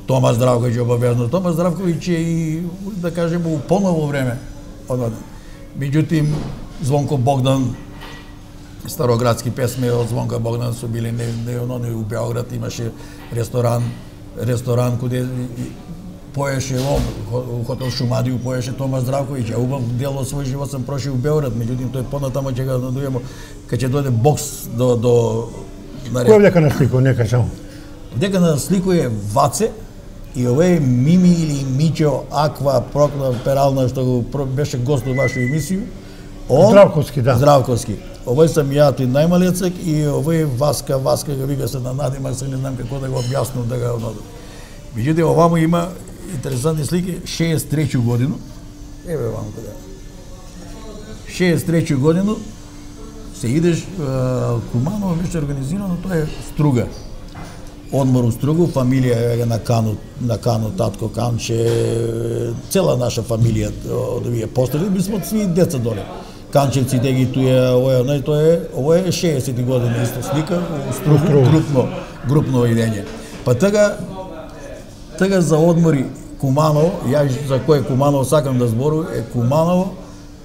Томас Здравковиќ обавезно. Томас Здравковиќ е и, да кажем, у поново време. Меѓутим, Звонко Богдан, староградски песме од Звонка Богдан су били не, не, не, у Београд имаше ресторан, ресторан каде поеше он, хотел Шумадију поеше Томас Здравковиќ, а убав дел од свој живот сам прошил у Београд, меѓутим тој понатамо ќе го надујемо, кога ќе дојде бокс до до Кој дека на слику, нека само. Дека на слику е Ваце и овој Мими или Мичо Аква Прокла Перална што го беше гост во вашу емисија. Он Здравковски, да. Здравковски. Овој сам ја тој најмалецак и овој Васка, Васка го вика се на надимак, се не знам како да го објаснам да го одам. Меѓутоа овамо има интересантни слики, шеесет и трета година. Еве ваму каде. шеесет и трета година се идеш Куманово беше организирано, тоа е Струга. Одмор у Стругу, фамилија е на Кану, на Кану, татко Канче, цела наша фамилија од овие постали, ми сме сви деца доле. Канчевци, деги туја, ова е, тоа е, ова е шеесет година исто слика, у Стругу, групно, групно идење. Па тага, тага за одмори Куманово, ја за кој Куманово сакам да збору, е Куманово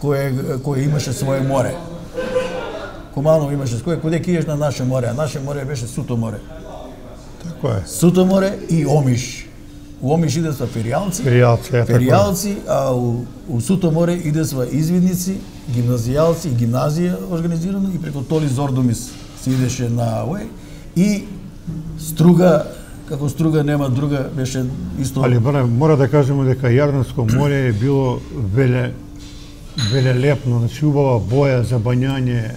кој кој имаше своје море. Куманово имаше кој каде ќе идеш на наше море, а наше море беше Суто море. Така е. Суто море и Омиш. У Омиш иде са феријалци, Феријалци, е, феријалци, а у, у Суто море иде са извидници, гимназијалци и гимназија организирано и преку Толи Зордомис се идеше на овој и Струга, како Струга нема друга, беше исто. Али бре, мора да кажеме дека Јарданско море е било веле велелепно, значи убава боја за бањање.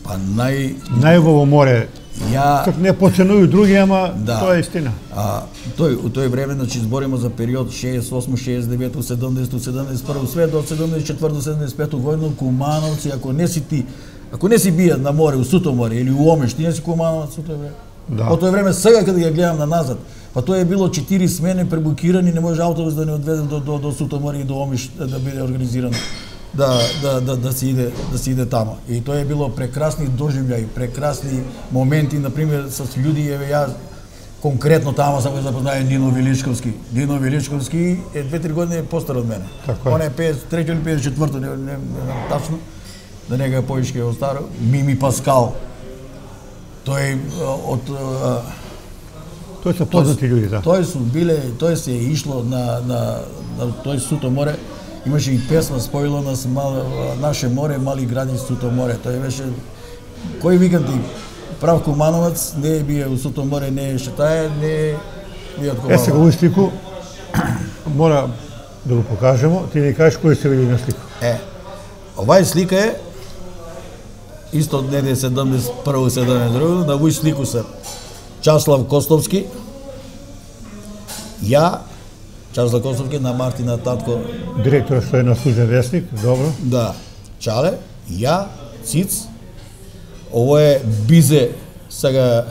Па нај Најубаво море. ја Как не поценуju други, ама Да. тоа е истина. А тој у тој време, значи збориме за период шеесет и осма, шеесет и девета, седумдесета, седумдесет и прва, све до седумдесет и четврта, седумдесет и пета година Кумановци, ако не си ти, ако не си бијат на море, у Суто море или у Омиш, ти не си Кумановец у тој време. Да. По тој време сега кога ја гледам на назад, па тоа е било четири смени пребукирани, не може автобус да не одведе до до до Суто море и до Омиш да биде организирано. Да, да, да, да се иде, да се иде тамо. И тоа е било прекрасни доживљаи, прекрасни моменти, на пример со луѓе, еве ја конкретно тамо сам го запознае Нино Величковски. Нино Величковски е две-три години постар од мене. Така е. Он е педесет и трета или педесет и четврта, не, не, не знам тачно. Да не го поишке од старо. Мими Паскал. Тој од Тоа се познати луѓе, да. Тој су биле, тој се е ишло на на на тој Суто море. Имаше и песма споило нас мал, наше море, мали гради Суто море. Тој беше кој викам ти прав Кумановец, не е бие у Суто море, не е шетае, не е бие од Е, Куманово. сега овој слику мора да го покажемо. Ти не кажеш кој се види на слику. Е, овај слика е исто од неде седумдесет и прва, седумдесет и друга, на овој слику се Часлав Костовски, ја, Часлав Костовски на Мартина татко, Директор што е на служен весник, добро. да, Чале, ја, Циц, ово е Бизе, сега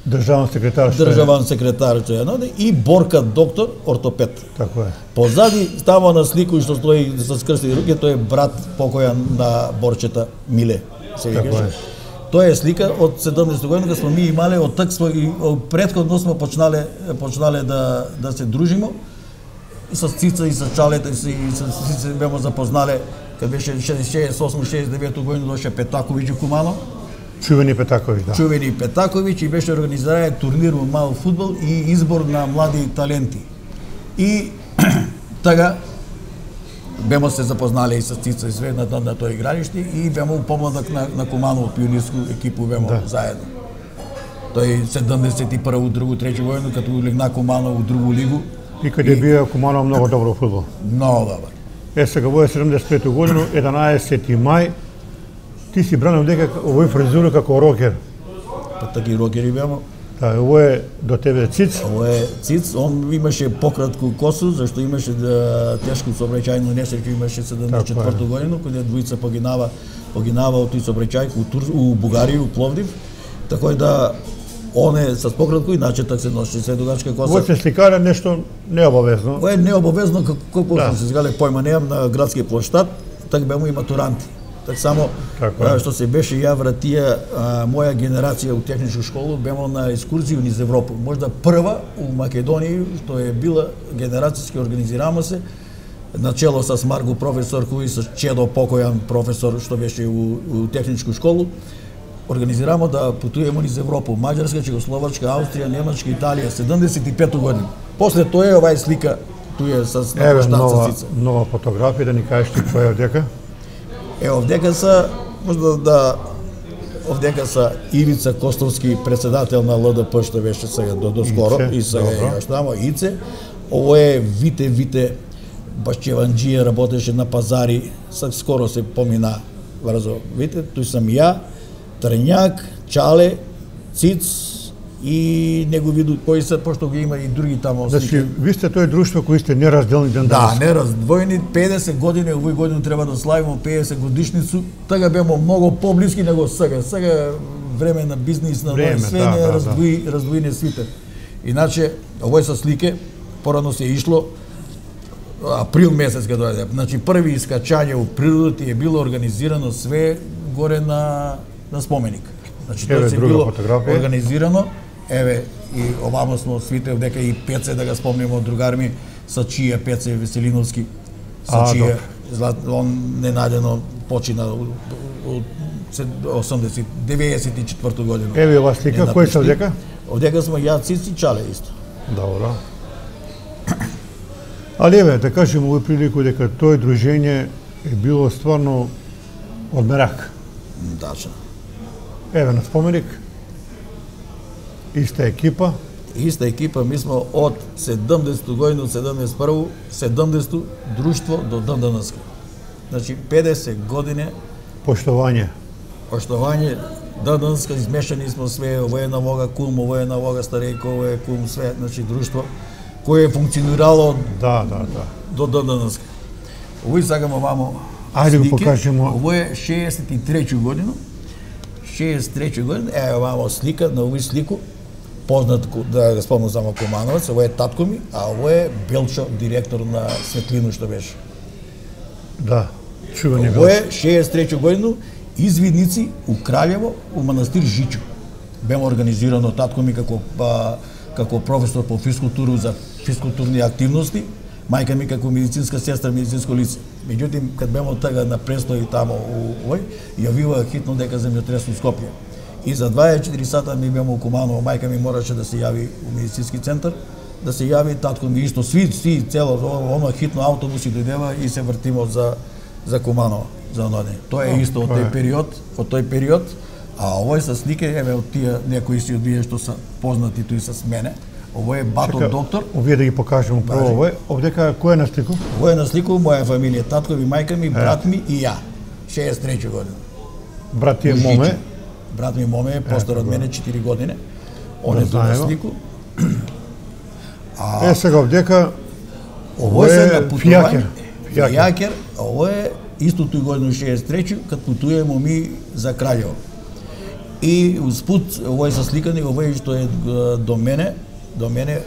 Државен секретар што е. државен секретар што е наде, и Борка доктор, ортопед. Така е. Позади става на слику што стои со скрстени руки, тој е брат покојан на Борчета Миле. Се Така викаше. е. Тоа е слика од седумдесета година кога сме ми имале од такво и предходно сме почнале почнале да да се дружимо. и со Цица и со Чалета и со и со Цица бемо запознале кога беше шеесет и осма шеесет и девета година доше Петаковиќ и Кумано. Чувени Петаковиќ, да. Чувени Петаковиќ и беше организиран турнир во мал фудбал и избор на млади таленти. И така бемо се запознале и со Цица и све на, на, на тој игралиште и бемо помладак на, на Куманово пионирску екипу бемо да. Заедно. Тој седумдесет и прва, другу, треќу година като легна Куманово у другу лигу. И каде и... бија Куманово многу добро фудбал. Многу добро. Е сега во седумдесет и пета година, единаесети мај, ти си бранил дека овој фризура како рокер. Па таки рокери бемо. Да, ово е до тебе Циц. Ово е Циц, он имаше пократку косу, зашто имаше да тешко сообраќајно несреќа, имаше седумдесет и четврта година, кога двојца погинава, погинава од тој сообраќај у, Тур, у Бугарија, у Пловдив. Така да он е со пократко, иначе так се носи се дугачка коса. Во се сликара нешто необавезно. Ово е необавезно, како да. се згале појма неам на градски плоштад, так бемо и матуранти. Так само а, што се беше ја вратија а, моја генерација у техничку школу, бемо на екскурзија низ Европа. Можда прва у Македонија што е била генерацијски организирано се начело со Марго професор кој со Чедо покојан професор што беше у, у техничку школу. Организирамо да путуваме низ Европа, Маđarска, Чехословачка, Австрија, Немачка, Италија, седумдесет и пета година. После тоа е овај слика, туе со нова, нова фотографија, да ни кажеш ти која е овдека? Е, овдека са, можда да, овдека са Ивица Костовски, председател на Л Д П, што беше сега до, до скоро, Ице, и сега е тамо, Ице. Ово е Вите, Вите, Башчеванџија, работеше на пазари, скоро се помина врзо, Вите, тој сам ја, Трњак, Чале, Циц и негови кои се, пошто ги има и други тамо. Значи, ви сте тој друштво кои сте неразделни ден данас. Да, нераздвоени, педесет години, овој година треба да славиме педесет годишницу, така бемо многу поблиски него сега. Сега време на бизнис, на време, све да, не да, раздвои, да. раздвои не свите. Иначе, овој со слике, порано се ишло, април месец кога дојде. Значи, први искачање у природата е било организирано све горе на на споменик. Значи тоа се било фотографија. Организирано. Еве и овамо смо свите дека и Пеце да го спомнеме од другар ми со чија Пеце Веселиновски. Со чија он ненадено почина од осумдесет деветдесет и четврта година. Еве ова слика, кој се овдека? Овдека смо ја, Цици, Чале исто. Добро. Али еве, да кажем овој прилику дека тој дружење е било стварно од мерак. Дача. Еве на споменик, иста екипа. Иста екипа, ми сме од седумдесета година, од седумдесет и прва, седумдесето друштво до ден денеска. Значи педесет години поштовање. Поштовање, ден денеска измешани сме све, ово е на вога кум, ово е на вога старејко, ово е кум, све, значи друштво кое е функционирало да, да, да. до ден денеска. Овој сакамо вамо ајде го покажемо. Ово е шеесет и трета година. шеесет и трета година, е овамо слика, на овој слику, познат, да го спомнам само Кумановец, ово е татко ми, а ово е Белчо, директор на Светлино што беше. Да, чувани Белчо. Ово е шеесет и трета година, извидници у Краљево, у манастир Жичо. Бемо организирано татко ми како, па, како професор по физкултура за физкултурни активности, мајка ми како медицинска сестра, медицинско лице. Меѓутоа, кад бемо тага на престој тамо у овој, јавила хитно дека земјотрес у Скопје. И за дваесет и четири сата ми бемо у Куманово, мајка ми мораше да се јави у медицински центар, да се јави, татко ми исто, сви, сви, цело, оно хитно автобуси дојдева и се вртимо за, за Куманово, за оноде. Тоа е исто од тој период, од тој период, а овој со слике, еве од тие некои си од вие што се познати туи с мене. Ово е Бато Чека, доктор. Овие да ги покажеме прво овој. Овдека кој е на слику? Овој е на слику моја фамилија, татко ми, мајка ми, брат ми и ја. шеесет и трета година. Брат ти е Моме. Брат ми Моме е постар од мене четири години. Он е на слику. А, е сега овдека овој е на путување. Фијакер. Ово е исто тој година шеесет и трета, кад путуваме ми за Краљево. И успут овој со сликани, овој што е до мене, до мене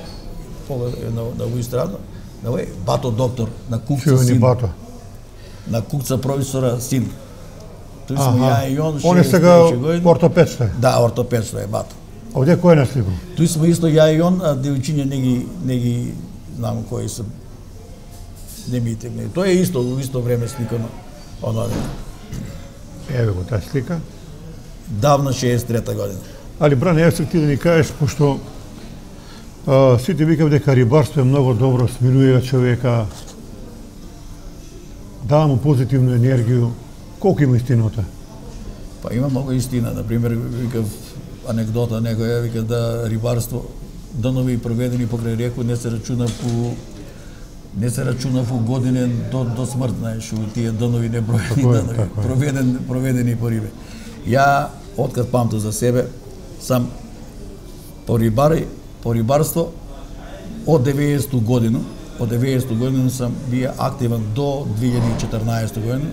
на на овој страна, на овој Бато доктор, на кукца син. Бато. На кукца професора син. Тој сме ја и он. Он е сега ортопед што е. Да, ортопед што е Бато. Овде кој е на слику? Тој сме исто ја и он, а девојчиња не ги не ги знам кои се не ми тегне. Тоа е исто, во исто време сликано. Она еве го таа слика. Давна шеесет и трета година. Али Бране, еве ти да ни кажеш, пошто а, сите викав дека рибарство е многу добро, смирува човека, дава му позитивна енергија. Колку има истината? Па има многу истина. Например, викав анекдота некоја, вика да рибарство данови проведени покрај реку не се рачуна по не се рачуна по години до до смрт, знаеш, у тие данови не броени данови, така е. проведен проведени по рибе. Ја откад памтам за себе сам по рибари, по рибарство од деветдесета година, од деветдесета година сам бија активен до две илјади и четрнаесета година.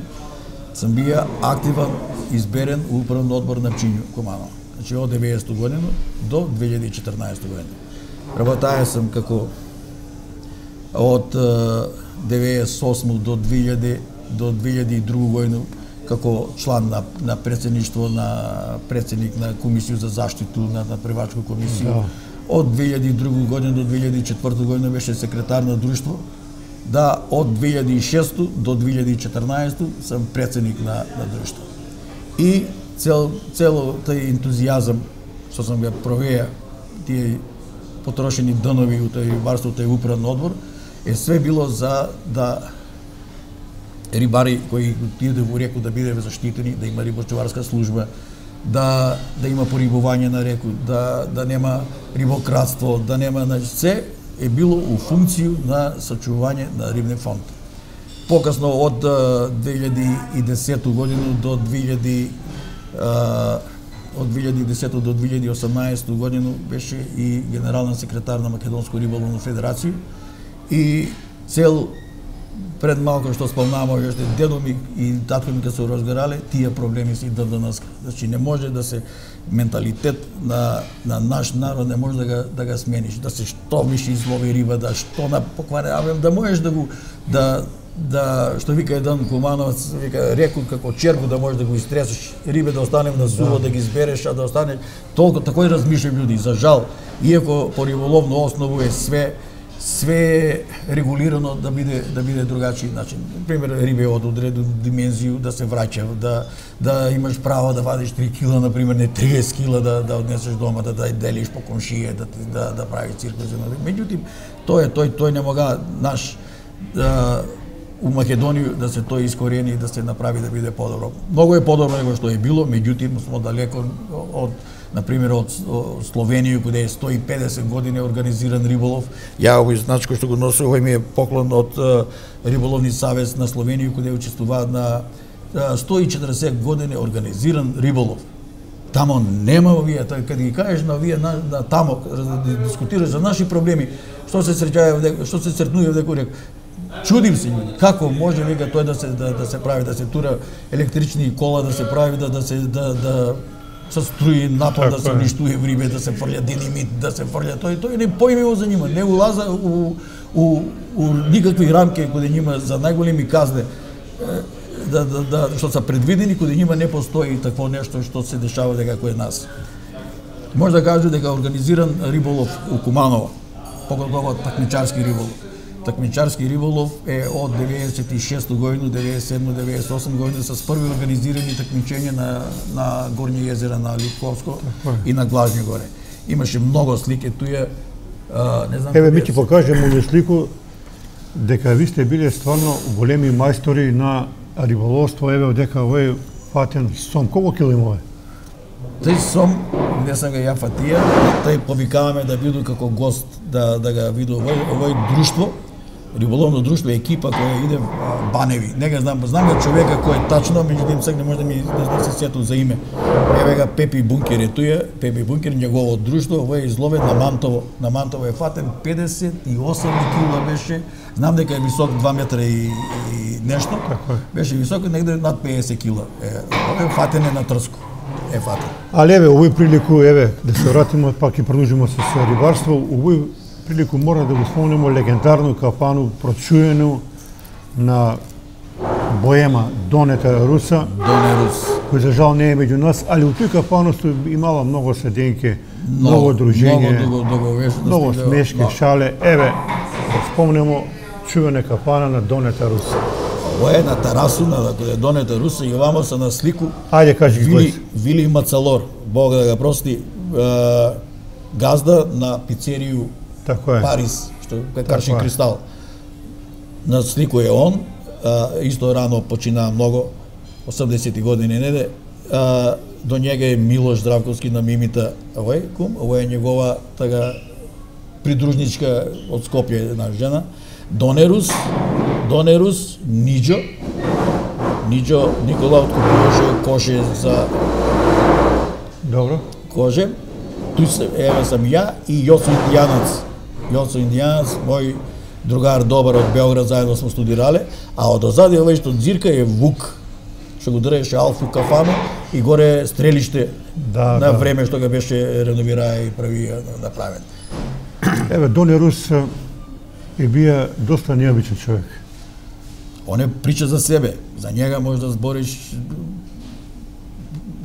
Сам бија активен изберен у управен одбор на Пчињу, Куманово. Значи од деветдесета година до две илјади и четрнаесета година. Работаја сам како од деветдесет и осма до две илјади до две илјади и друга година како члан на на претседништво на претседник на комисија за заштиту на на привачка комисија. Да. Од две илјади и друга година до две илјади и четврта година беше секретар на друштво. Да, од две илјади и шеста до две илјади и четрнаесета сам претседник на на друштво. И цел цело тој ентузијазам што сам го провеа тие потрошени данови у тој рибарство, тој управен одбор, е све било за да рибари кои отиде во реку да биде заштитени, да има рибочуварска служба, да да има порибување на реку, да да нема рибократство, да нема, значи се е било у функција на сачување на рибен фонд. Покасно од две илјади и десета година до две илјади од две илјади и десета до две илјади и осамнаесета година беше и генерален секретар на Македонско риболовна федерација и цел пред малку што спомнаваме уште дедо ми и татко ми кога се разгарале, тие проблеми се и до денес. Значи не може да се менталитет на на наш народ не може да го да го смениш, да се што више излови риба, да што на покваре, да можеш да го да да што вика еден Кумановец, вика реку како черку да можеш да го истресеш, рибе да остане на суво, да, да ги избереш, а да остане толку такој размишљај луѓе. За жал, иако по риболовно основу е све све регулирано да биде да биде другачи начин. Например, рибе од одредена димензија да се враќа, да да имаш право да вадиш три кила, например, не триесет кила да да однесеш дома, да да делиш по комшија, да да да правиш циркуси. Меѓутоа, тој тој тој не мога наш да, у Македонија да се тој искорени и да се направи да биде подобро. Многу е подобро него што е било, меѓутоа смо далеко од например од Словенија каде е сто и педесет години организиран риболов. Ја овој значко што го носи, овој ми е поклон од Риболовни савез на Словенија каде учествуваат на сто и четиридесет години организиран риболов. Тамо нема овие, каде ги кажеш на овие на, на тамо да дискутираш за наши проблеми, што се среќава, што се сретнува дека рек. Чудим се луѓе, како може вика тој да се да, да се прави, да се тура електрични кола, да се прави да да се да да со струи напад да се уништува рибе, да се фрља динамит, да се фрља тој тој не поимево за нима, не улаза у у у никакви рамки кои нима за најголеми казни да да да што се предвидени кои нима не постои такво нешто што се дешава дека кој нас. Може да кажу дека организиран риболов у Куманово, поготово такмичарски риболов. Такмичарски риболов е од деветдесет и шеста година, деветдесет и седма, деветдесет и осма година с први организирани такмичења на на Горни езера на Литковско и на Глажни горе. Имаше многу слики туја, не знам. Еве ми ти покажем овој слику дека ви сте биле стварно големи мајстори на риболовство, еве дека овој фатен сом колку кило има? Тој сом не сам ga ја фатија, тој повикаваме да биде како гост да да ga види овој овој друштво. Риболовно друштво, екипа која иде Баневи. Не го знам, знам го човека кој е тачно, меѓутоа сега не може да ми да се сетам за име. Еве га Пепи Бункер е туја, Пепи Бункер негово друштво, овој е изловен на Мантово. На Мантово е фатен педесет и осем кила беше. Знам дека е висок два метра и, и нешто. Беше висок негде над педесет кила. Е, овој фатен е на Трско. Е фатен. Але еве овој прилику, еве да се вратиме пак и продолжиме со рибарство. Овој прилику мора да го спомнеме легендарно кафану прочуено на Боема Донета Руса. Доне Рус. Кој за жал не е меѓу нас, али у тој кафану имала многу седенки, многу дружење, многу, многу, многу смешки, шале. Еве, да спомнемо чувена кафана на Донета Руса. Ова е на Тарасу, на Донета Руса и овамо се на слику. Ајде кажи ги Вили, Вили Мацалор, Бог да го прости, е, газда на пицерију Така е. Парис, што пекарши Така е. Кристал. На слику е он, а, исто рано почина многу, осемдесети години неде. А, до njega е Милош Здравковски на Мимита, овој кум, ова е негова така придружничка од Скопје една жена. Донерус, Донерус, Ниџо, Ниџо Никола откупуваше коше за Добро. коже. Туј се, еве сам ја и Јосо Индијанац. Јосо Индијанац, мој другар добар од Белград, заедно сме студирале, а од озади овој што дзирка е Вук, што го држеше Алфу кафану и горе стрелиште Да, на да. време што го беше реновираа и прави направен. Еве, Доне Рус е бија доста необичен човек. Он е прича за себе, за njega можеш да збориш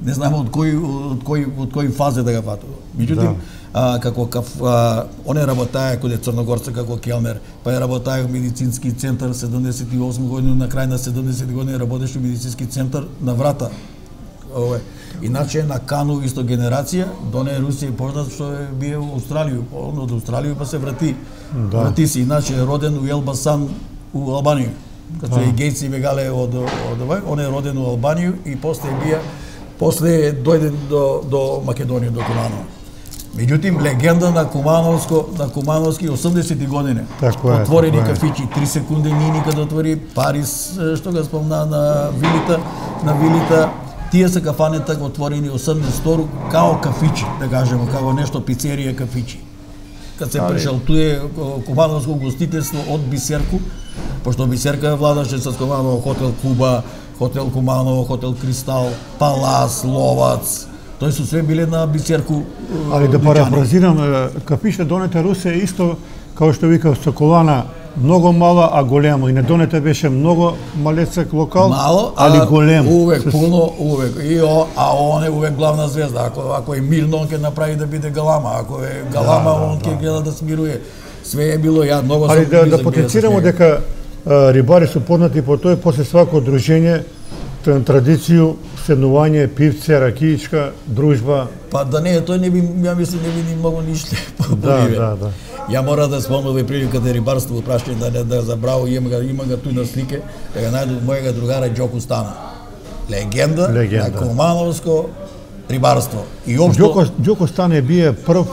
не знам од кој од кој од кој фазе да го фатува. Меѓутоа, Да. а, како каф, а, он е работае каде Црногорца како келнер, па е работае во медицински центар седумдесет и осма година, на крај на седумдесети години работеше во медицински центар на Врата. Ове. Иначе на Кану исто генерација, Доне Русија е познат што е бие во Австралија, он од Австралија па се врати. Да. Врати се, иначе е роден у Елбасан у Албанија. Като Да. и Гејци бегале од од овој, он е роден у Албанија и после бија после дојде до до Македонија, до Куманово. Меѓутоа легенда на Кумановско, на Кумановски осемдесети години. Така е, Отворени така е. кафичи, три секунди ни никаде отвори, Парис што го спомна на вилита, на вилита. Тие се кафанета отворени осемдесет второ као кафичи, да кажеме, као нешто пицерија кафичи. Кад се прешалтуе Кумановско гостителство од Бисерку, пошто Бисерка владаше со Куманово, хотел Куба, хотел Куманово, хотел Кристал, Палас, Ловац. Тој се све биле на Бисерку. Али да дуќани. парафразирам, кафишта Донета Руса е исто како што вика Соколана, многу мала, а големо. И на Донета беше многу малецак локал, Мало, али а голем. Увек С- пуно, увек. И о, а он е увек главна звезда. Ако ако е мирно, он ќе направи да биде галама. Ако е галама, Да, да, он ќе да. гледа да смируе. Све е било, ја многу Али сум да, близок да бил потенцираме со него. дека а, рибари се познати по тој, после свако дружење, тр- традицију, седнување, пивце, ракиичка, дружба. Па да не, тој не би, ја мислам, не би ни многу ништо Да, побиве. да, да. Ја мора да спомнам и приликата рибарство во прашање да не да забраво, има ga има ga туј на слике, да го најду мојега другара Ѓоку Стана. Легенда, Легенда. на Кумановско рибарство. И општо Ѓоко, Ѓоко Стане бие прв,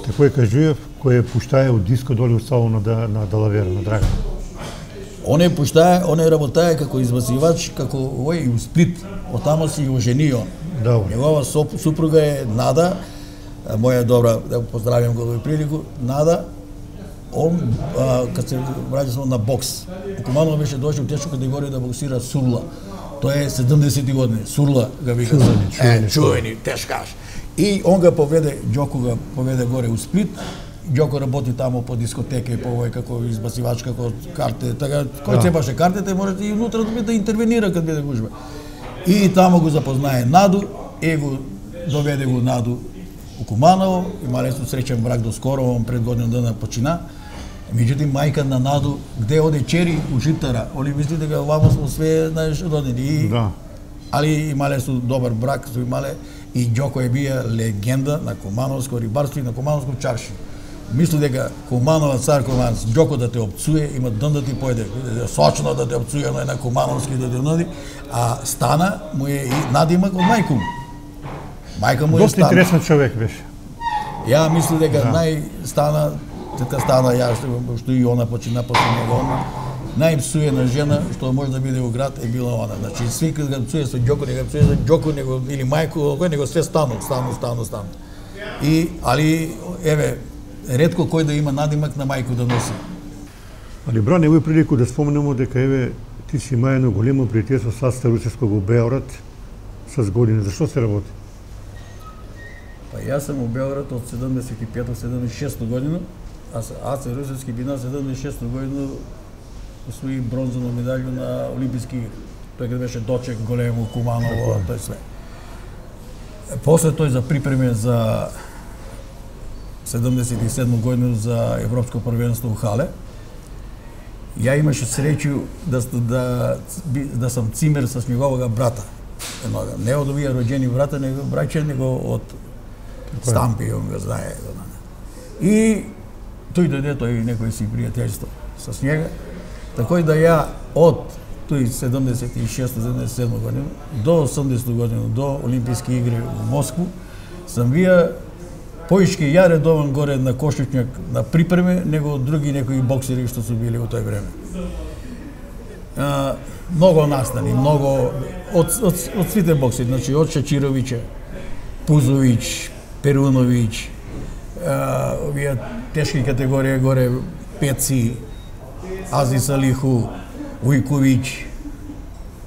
како ја кажујев, кој е пуштаја од диско доле од салона на, на Далавера, на Драган. он е пуштае, он е работае како избасивач, како овој и у Сплит, оттамо си и оженио. Добро. Негова соп- супруга е Нада, а, моја добра, да го поздравам го во прилику, Нада. Он а, кад се враќа на бокс, у Куманово беше дошол тешко категорија да боксира Сурла. Тоа е седумдесети години. Сурла га вика. Чувени, чувени, е, чувени, тешкаш. И он га поведе, Ѓоко га поведе горе у Сплит. Ѓоко работи тамо по дискотека и по овој како избасивач, како карте, така кој Да. цепаше картите, можете и внутра да биде да интервенира кад биде гужба. И тамо го запознае Наду, и го доведе го Наду у Куманово, имале су среќен брак до скоро, он пред година дана почина. Меѓутоа мајка на Наду, где оде чери у Житара, они мисли дека вамо смо све, знаеш, родени. И Да. али имале су добар брак, су имале и Ѓоко е бија легенда на Кумановско рибарство и на Кумановско чарши. Мисли дека Куманова цар Куманов, Ѓоко да те опцуе, има ден да ти појде, сочно да те опцуе, но е на Кумановски да те нади, а Стана му е и надимак од мајка му. Мајка му е Доста Стана. интересен човек беше. Ја мислам дека Да. нај Стана, така Стана ја што, што и она почина после него, она најпсуена жена што може да биде у град е била она. Значи сви кога го псуе со Ѓоко, не го псуе со Ѓоко, него или мајку, кој него све Стану, Стану, Стану, Стану. И али еве ретко кој да има надимак на мајку да носи. Али бране, овој прилику да споменемо дека еве ти си има едно големо пријателство со Аца Русевског во Београд с години. Зашто се работи? Па јас сум у Београд од седумдесет и пета седумдесет и шеста година, а Аце Русевски би на седумдесет и шеста година освои бронзово медаљу на Олимписки игри. Тој кога беше дочек големо Куманово, тој све. После тој за припреме за седумдесет и седма година за Европско првенство у Хале Ја имаше среќу да да да сам цимер со неговога брата. Еднога, не од овие роđени брата, него браќа, него од Стампи, он го знае. И тој дојде, тој некој си пријателство со njega. Така да ја од тој седумдесет и шеста седумдесет и седма година до осумдесета година, до Олимписки игри во Москву, сам вија поишки ја редован горе на Кошичњак на припреме, него од други некои боксери што су били во тој време. А, многу настани, многу од, од, од сите боксери, значи од Шачировиќа, Пузовиќ, Перуновиќ, а, овие тешки категорија горе, Пеци, Азис Алиху, Вујковиќ,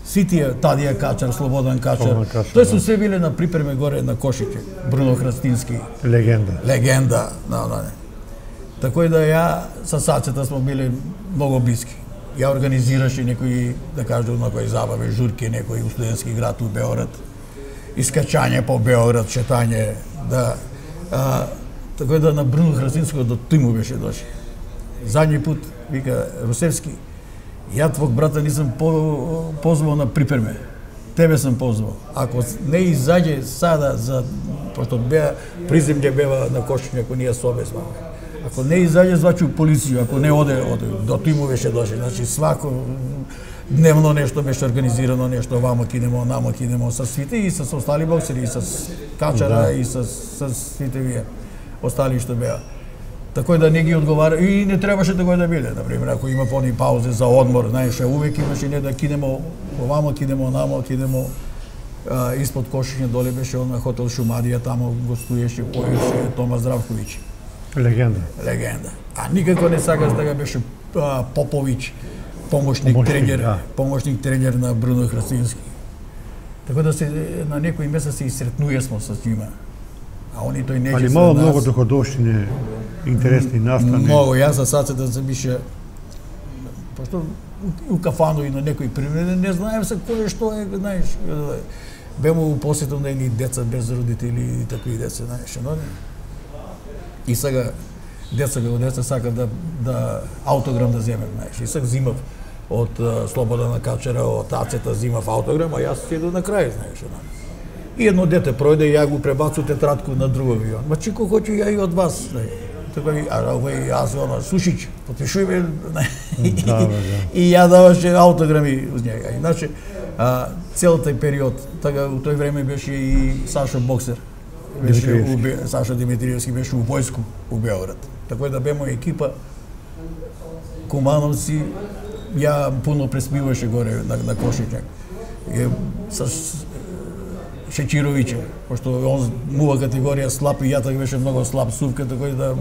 сите Тадија Качар, Слободан Качар, тој су се биле на припреме горе на Кошиче, Бруно Храстински. Легенда. Легенда, да, да. Така да ја со Сацета смо биле многу блиски. Ја организираше некои, да кажем, некои забави, журки, некои у студентски град у Београд, искачање по Београд, шетање, да. А, така да на Бруно Храстинско до тој му беше доши. Задњи пут, вика Русевски, ја твог брата нисам по, позвал на припреме. Тебе сам позвал. Ако не изаѓе сада за пошто беа приземје бева на Кошичњак, ако ние собе зваме. Ако не изаѓе звачу полиција, ако не оде, оде до тој му беше дошли. Значи свако дневно нешто беше организирано, нешто вамо кидемо, намо кидемо со свите и со остали боксери, и со Качара, да. И со, со свите вие остали што беа. Така да не ги одговара и не требаше да го да биде. Например, ако има пони паузе за одмор, знаеш, увек имаше не да кидемо овамо, кидемо намо, кидемо а, испод Кошичња доле беше на хотел Шумадија, тамо гостуеше поеше Тома Здравковиќ. Легенда. Легенда. А никако не сакаш да беше а, Поповиќ, помошник, помошник тренер, да. помошник тренер на Бруно Храстински. Така да се на некои места се исретнуе смо со нима. А они тој не Али мало многу доходовштини, интересни настани. Многу, јас за Сацета се бише пошто у кафану и на некои примери не знаем се кој што е, знаеш. Бемо у посетом на едни деца без родители и такви деца, знаеш, но и сега деца како деца сакат да да аутограм да земем, знаеш. И сега зимав од Слободана Качара, од Ацета зимав аутограм, а јас седу на крај, знаеш, но. И едно дете пројде и ја го пребацу тетрадку на друг авион. Ма чико хоќу ја и од вас. Така ви, а овој јас оно Сушиќ, потпишуј ме. Да, да. И ја даваше аутограми uz njega. Иначе а, цел тој период, така у тој време беше и Сашо Боксер. Беше у Сашо Димитриевски беше у војску у Београд. Така да бемо екипа кумановци, ја пуно преспиваше горе на, на Кошичњак. И со Шечировиќа, пошто он мува категорија слаб и ја така беше многу слаб сувка, така да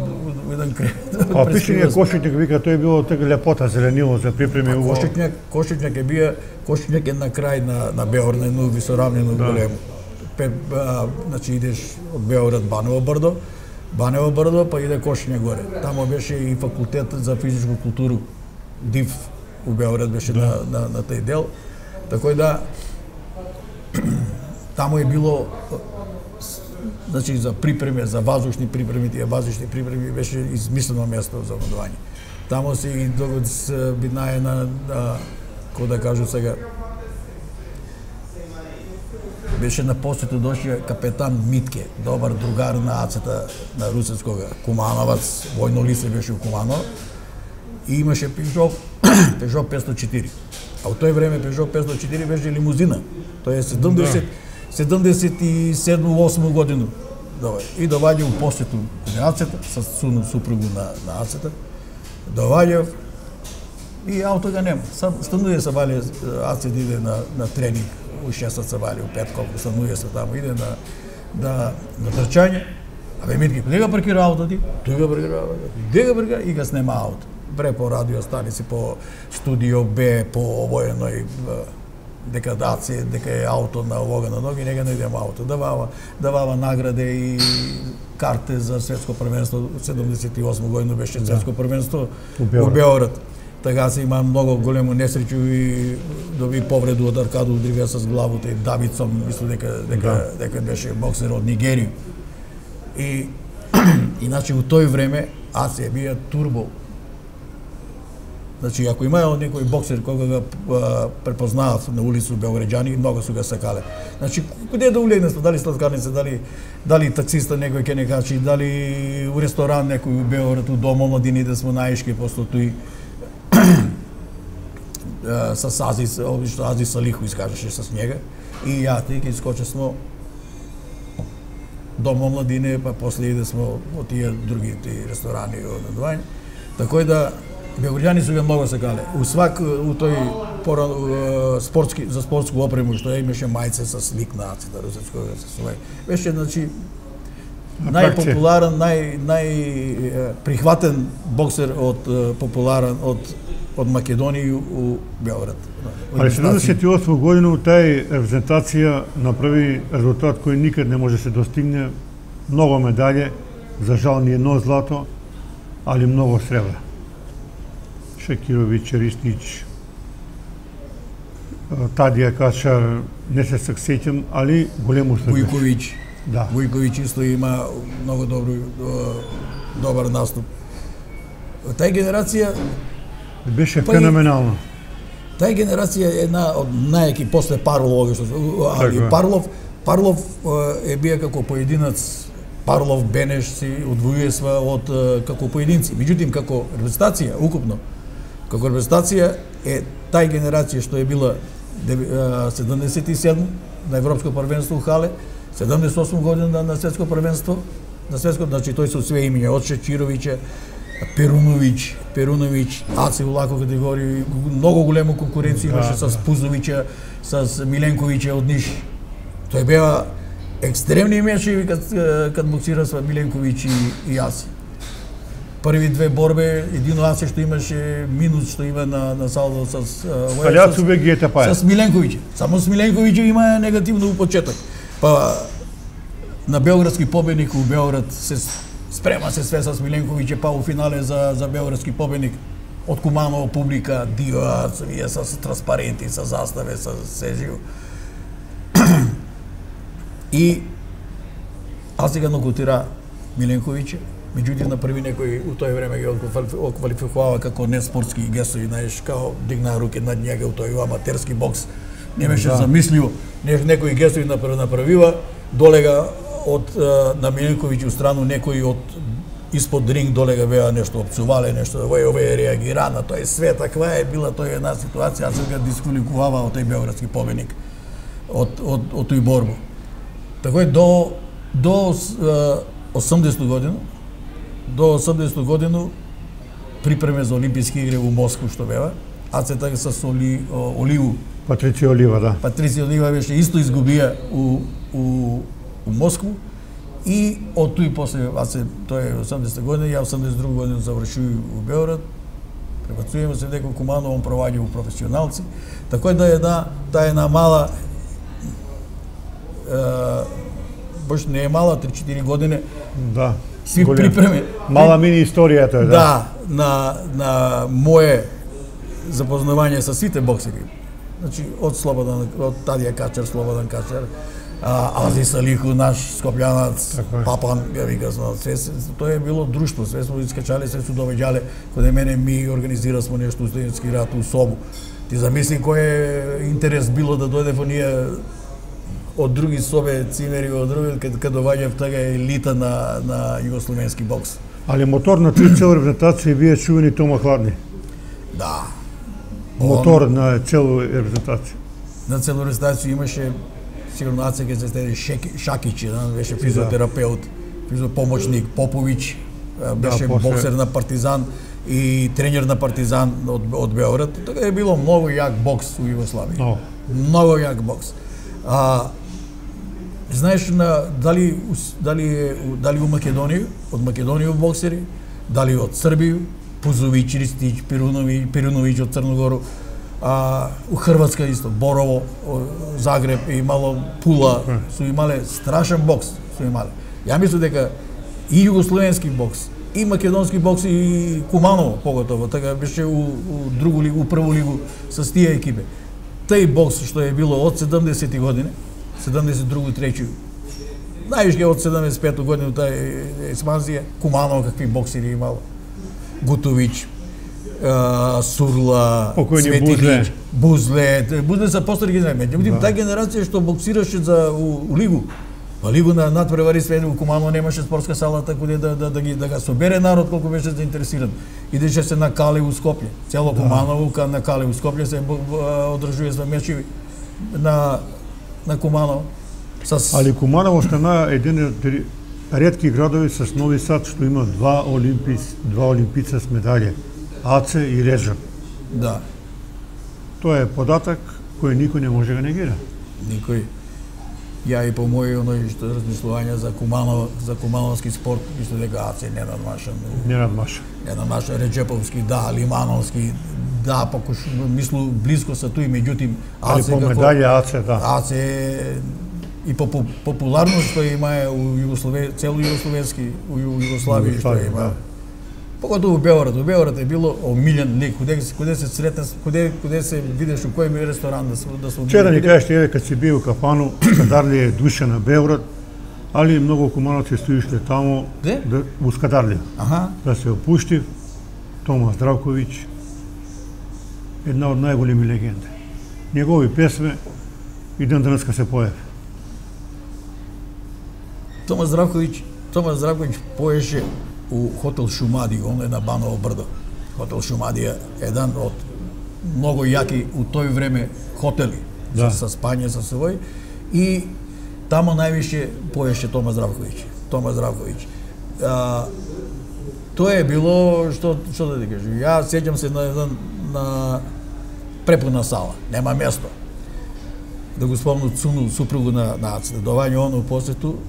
еден кревет. А пишење Кошичњак вика тој било така лепота, зеленило за припреми уво. Кошичњак, Кошичњак е бија, Кошичњак е на крај на на Београд, на едно висоравнено да. Големо. Пе, а, значи идеш од Београд Баново брдо, Баново брдо, па иде Кошичњак горе. Тамо беше и факултет за физичку културу, ДИФ у Београд беше да. на, на на тој дел. Така да тамо е било, значи за припреме, за вазушни припреми, тие вазушни припреми беше измислено место за одморување. Тамо се и догод биднае на, на кој да кажу сега, беше на посету дошија капетан Митке, добар другар на Ацета на Русевскога, Кумановац, војно лице беше у Куманово, и имаше Пежо, Пежо петстотини и четири. А у тој време Пежо петстотини и четири беше лимузина. Тоа е седумдесет седумдесет и седма осма година. И доваѓа у посету на Ацета, со суну супругу на, на Ацета. Доваѓа и ауто го нема. Стануе се вали, Ацет иде на, на тренинг, у шест се вали, у пет колку стануе се таму, иде на, на, на трчање. Абе, Митки, каде го паркира ауто ти? Тој го паркира ауто. Каде го паркира? И го снема ауто. Бре по радио станици, по студио Б, по овојној дека даци, дека е ауто на овога на ноги, нега не идемо ауто. Давава, давава награде и карте за светско првенство. седумдесет и осма година беше светско првенство у Београд. Така се има многу големо несреќу и доби повреду од Аркадо Удривија со главата и Давидсон, мислам дека дека да. дека беше боксер од Нигерија. И иначе у тој време Асија бија турбо. Значи, ако има некој боксер кога го препознаат на улица Белграѓани, много су го сакале. Значи, куде да улегне, дали сладкарница, дали дали таксиста некој ке не качи, дали у ресторан некој у Белград, у Дом омладини да смо наишки, после тој с Азис, обично Азис Салиху изкажеше с njega, и ја ти ке искоче смо Дом омладине, па после иде смо во тие други тие ресторани од одвање. Така да Белграѓани су го многу сакале. У свак у тој пора спортски за спортску опрему што имаше мајце со слик на нација, русечко со свој. Беше значи најпопуларен, нај нај прихватен боксер од популарен од од Македонија у Белград. Ali седумдесет и осма година тај репрезентација направи резултат кој никад не може се достигне, многу медаљи, за жал ни едно злато, али многу сребра. Шакировиќ, Ристич, Тадија Качар, не се сеќам, али голем успех. Вујковиќ. Да. Вујковиќ исто има многу добро добар наступ. Тај генерација беше феноменално. Тај генерација е една од најаки после Парлов, али Парлов Парлов е бија како поединац. Парлов Бенеш си одвојува од како поединци. Меѓутоа како репрезентација укупно, како репрезентација е тај генерација што е била седумдесет и седма на европско првенство у Хале, седумдесет и осма година на светско првенство, на светско, значи тој со све имиња од Шечировиќа, Перуновиќ, Перуновиќ, Аце у лако категорија, многу голема конкуренција имаше да, с Пузовиќа, с Миленковиќа од Ниш. Тој беа екстремни мечеви кад кад боксира со Миленковиќ и, и Аце. Први две борбе, едино Аце што имаше минус што има на на салдо с С, с Миленковиќ. Само с Миленковиќ има негативно у почеток. Па на белградски победник у Белград се спрема се све с Миленковиќ, па у финале за за белградски победник од Куманово публика, дио, вие с транспаренти, со заставе, со сежио. И аз сега нокаутира Миленковиќ, меѓутоа на први некој у тој време ги оквалификувава како неспортски гесови, знаеш, као дигна руке над njega у тој аматерски бокс. Не беше да. Замисливо, некој гесови направива, долега од на Миленковиќ у страну некој од испод ринг долега беа нешто опцувале, нешто овој овој реагира на тој све, таква е била тој една ситуација, аз сега дисквалификувава од тој белградски победник од од од тој борба. Така е до до осумдесета година, до осумдесета година припреме за Олимписки игри во Москва што беа, а се така со Оли Оливу. Патриција Олива, да. Патриција Олива беше исто изгубија у у у Москва и од тој после, а се тоа е осумдесета година, ја осумдесет и друга година завршив у Белград. Пребацуваме се дека Куманово он проваѓа у професионалци. Така да е една таа една мала баш не е мала, три-четири години. Да. Си припреме. Мала мини историјата е, да. Да, на на мое запознавање со сите боксери. Значи од Слободан, од Тадија Качар, Слободан Качар, Азис Салиху, наш скопјанец, Папан, ја вика, се тоа е било друштво, све смо искачале, се су довеѓале, каде мене ми организира смо нешто студентски рад у Собу. Ти замисли кој е интерес било да дојде во ние од други собе цимери, од други, каде каде доаѓа тага елита на на југословенски бокс. Али мотор на тој цел репрезентација бие чувени Тома Хладни. Да. Мотор Он, на цело репрезентација. На цело репрезентација имаше сигурно Аце ке се стеди Шакиќ, да, беше физиотерапеут, физиопомоќник Поповиќ, беше да, после... боксер на Партизан и тренер на Партизан од од Белград. Така е било многу јак бокс у Југославија. No. Многу јак бокс. А знаеш на дали дали дали у Македонија, од Македонија боксери, дали од Србија, Пузовиќ, Ристич, Перуновиќ, Перуновиќ од Црногору, а у Хрватска исто, Борово, Загреб и мало Пула, су имале страшен бокс, су имале. Ја мислам дека и југословенски бокс, и македонски бокс и Куманово поготово, така беше у, у другу лигу, у прву лигу со тие екипи. Тај бокс што е било од седумдесети години, седумдесет и друга трети, највише од седумдесет и пета година тај експанзија, Куманово какви боксери имало, Гутовиќ, а, Сурла, Покојни Бузле. Бузле, Бузле са постари ги знаеме. Меѓутоа таа генерација што боксираше за у, у лигу, па лигу на надпревари све у Куманово немаше спортска сала така да да да ги да га собере народ колку беше заинтересиран. Идеше се на Кале у Скопје. Цело да. Куманово ка на Кале у Скопје се одржува за мечи на на Куманово. С... Али Куманово стана еден од ретки градови со Нови Сад што има два олимпис, два олимпица с медали, Аце и Режа. Да. Тоа е податок кој никој не може да го негира. Никој. Ја и по мој оној што размислување за Куманово, за кумановски спорт, мислам дека Аце не надмаша. Не надмаша. Не надмаша Реджеповски, да, Лимановски, да, покуш мислу близко са тој, меѓутоа Али по медали Аце, да. Аце и по популарност што има у Југословија, цело југословенски, у Југославија што има. Да. Поготово у Београд, у Београд е било омилен лик, куде куде се сретна, куде куде се видиш у кој ми ресторан да се да се. Вчера ни кажеш еве кога си бил у кафану, Скадарлија е душа на Београд, али многу кумановци стоишле таму Де? да у Скадарлија. Аха. Да се опушти Тома Здравковиќ, една од најголеми легенди. Негови песме и ден денеска се поеви. Тома Здравковиќ, Тома Здравковиќ поеше у хотел Шумадија, он е на Баново брдо. Хотел Шумадија е еден од многу јаки у тој време хотели, да. со, со спање, со свој, и тамо највише поеше Тома Здравковиќ. Тома Здравковиќ. А, тоа е било, што, што да ти кажам, ја сеќам се на еден на препуна сала, нема место. Да го спомну Цуну, супругу на, на Ацета, доваѓа он у посету,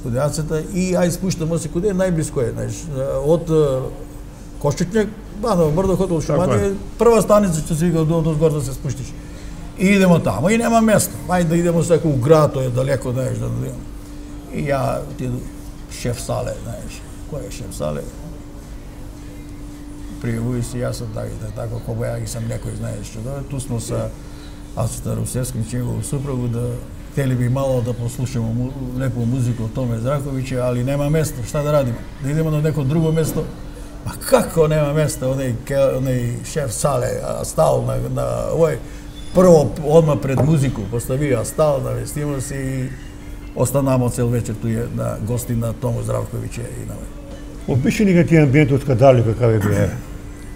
куде Ацета и ај спуштамо се куде најблиско е, знаеш, од Кошчетњак, Баново брдо, хотел Шумадија, прва станица што се вика од озгор да се спуштиш. И идемо тамо и нема место. Ајде да идемо секој у град, тоа е далеко, знаеш, да идемо. И ја отиду шеф сале, знаеш, кој е шеф сале? Пријавуј се, јас сум така, така, кога ја ги сам некој, знаеш, што да, ту смо са Ацета Русевски, негово супругу, да тели би мало да послушаме му, леку музика од Томе Здравковиќ, али нема место, шта да радиме? Да идеме на неко друго место? Па како нема место, оној, оној шеф сале, стал на, на овој, прво одма пред музику, поставија стал да вестимо си и останамо цел вечер туја на гости на Тому Здравковиќ и на овој. Опиши ни тие амбиенти од Скадарлија какав е бил.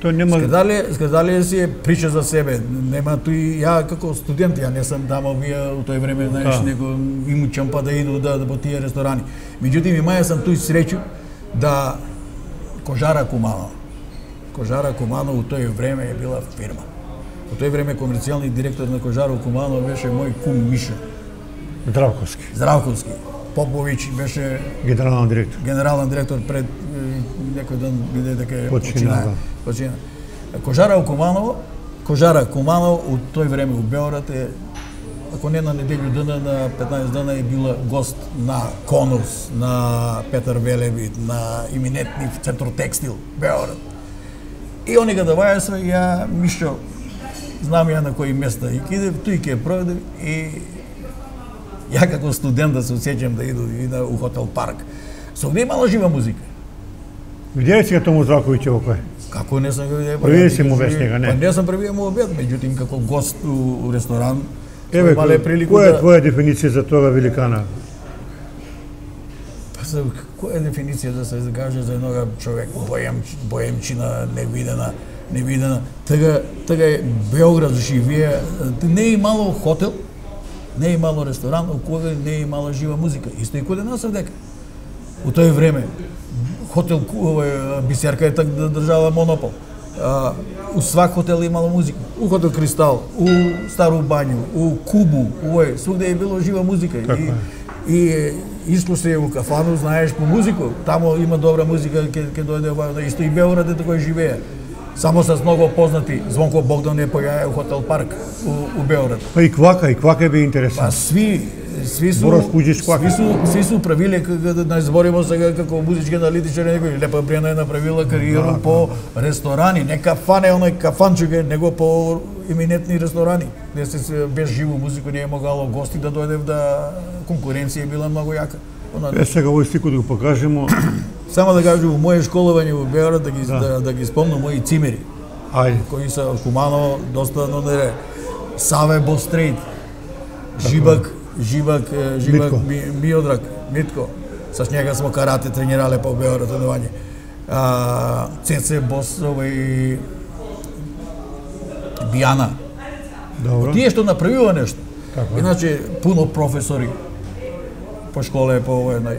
Тоа нема Скадарлија, Скадарлија си е прича за себе. Нема тој ја како студент, ја не сам таму вие у тој време, знаеш, да. Него им чампа да иду да, да по тие ресторани. Меѓутоа имаја сам тој среќу да Кожара Куманово. Кожара Куманово у тој време е била фирма. У тој време комерцијални директор на Кожара Куманово беше мој кум Миша Здравковски. Здравковски. Поповиќ беше генерален директор. Генерален директор пред некој ден биде дека е почина. Почина. Кожара у Куманово, Кожара Куманово у тој време у Београд е, ако не на неделю дена, на петнаесет дена е била гост на Конус, на Петар Велебит, на иминентни Центро Текстил, Београд. И они ga даваја се, ја Мишо, знам ја на кои места и киде, тој ќе проведе и ја како студент да се осеќам да иду и на у хотел Парк. Со где имало жива музика. Видели си Тому Здравковиќ во кој? Како не сам го видел? Први си му веќе него, не? Па не сам први му обед, меѓутоа како гост у, у ресторан, еве, имале прилику која е да... твоја дефиниција за тоа великана? Па за која е дефиниција да се каже за еднога човек боем боемчина невидена, невидена. Така така е Београд живее, не е имало хотел, не е имало ресторан, у кој не е имала жива музика. Исто и каде нас дека. У тој време хотел Бисерка е так да држала монопол. А, у свак хотел имало музика. У хотел Кристал, у Стару Бању, у Кубу, овој, свугде е било жива музика. И, и искуство у кафану, знаеш по музику, тамо има добра музика, ќе ќе дојде исто и Београд е такој живее. Само с многу познати, Звонко Богдан е појаја у хотел Парк у, у Београд. Па и Квака, и Квака би интересен. Па сви Сви су, сви су, сви су правиле, да не збориме сега како музички аналитичар, некој Лепа Брена е направила кариера да, по да. Ресторани, не кафане, оној кафанчук, него по иминентни ресторани. Де се без живу музику не е могало гости да дојде, да конкуренција била многу јака. Е сега овој стикот да го покажемо. Само да кажам, во моје школување во Београд да ги да. Да, да ги спомнам мои цимери. Ајде. кои се од Куманово, доста но не Саве Бострейт, Жибак, Жибак, Жибак Ми, Миодрак, Митко. С njega smo karate trenirale po Beogradu trенување. А Цеце Бос овој Бијана. Добро. Тие што направува нешто. Така. Иначе пуно професори по школе, по овој на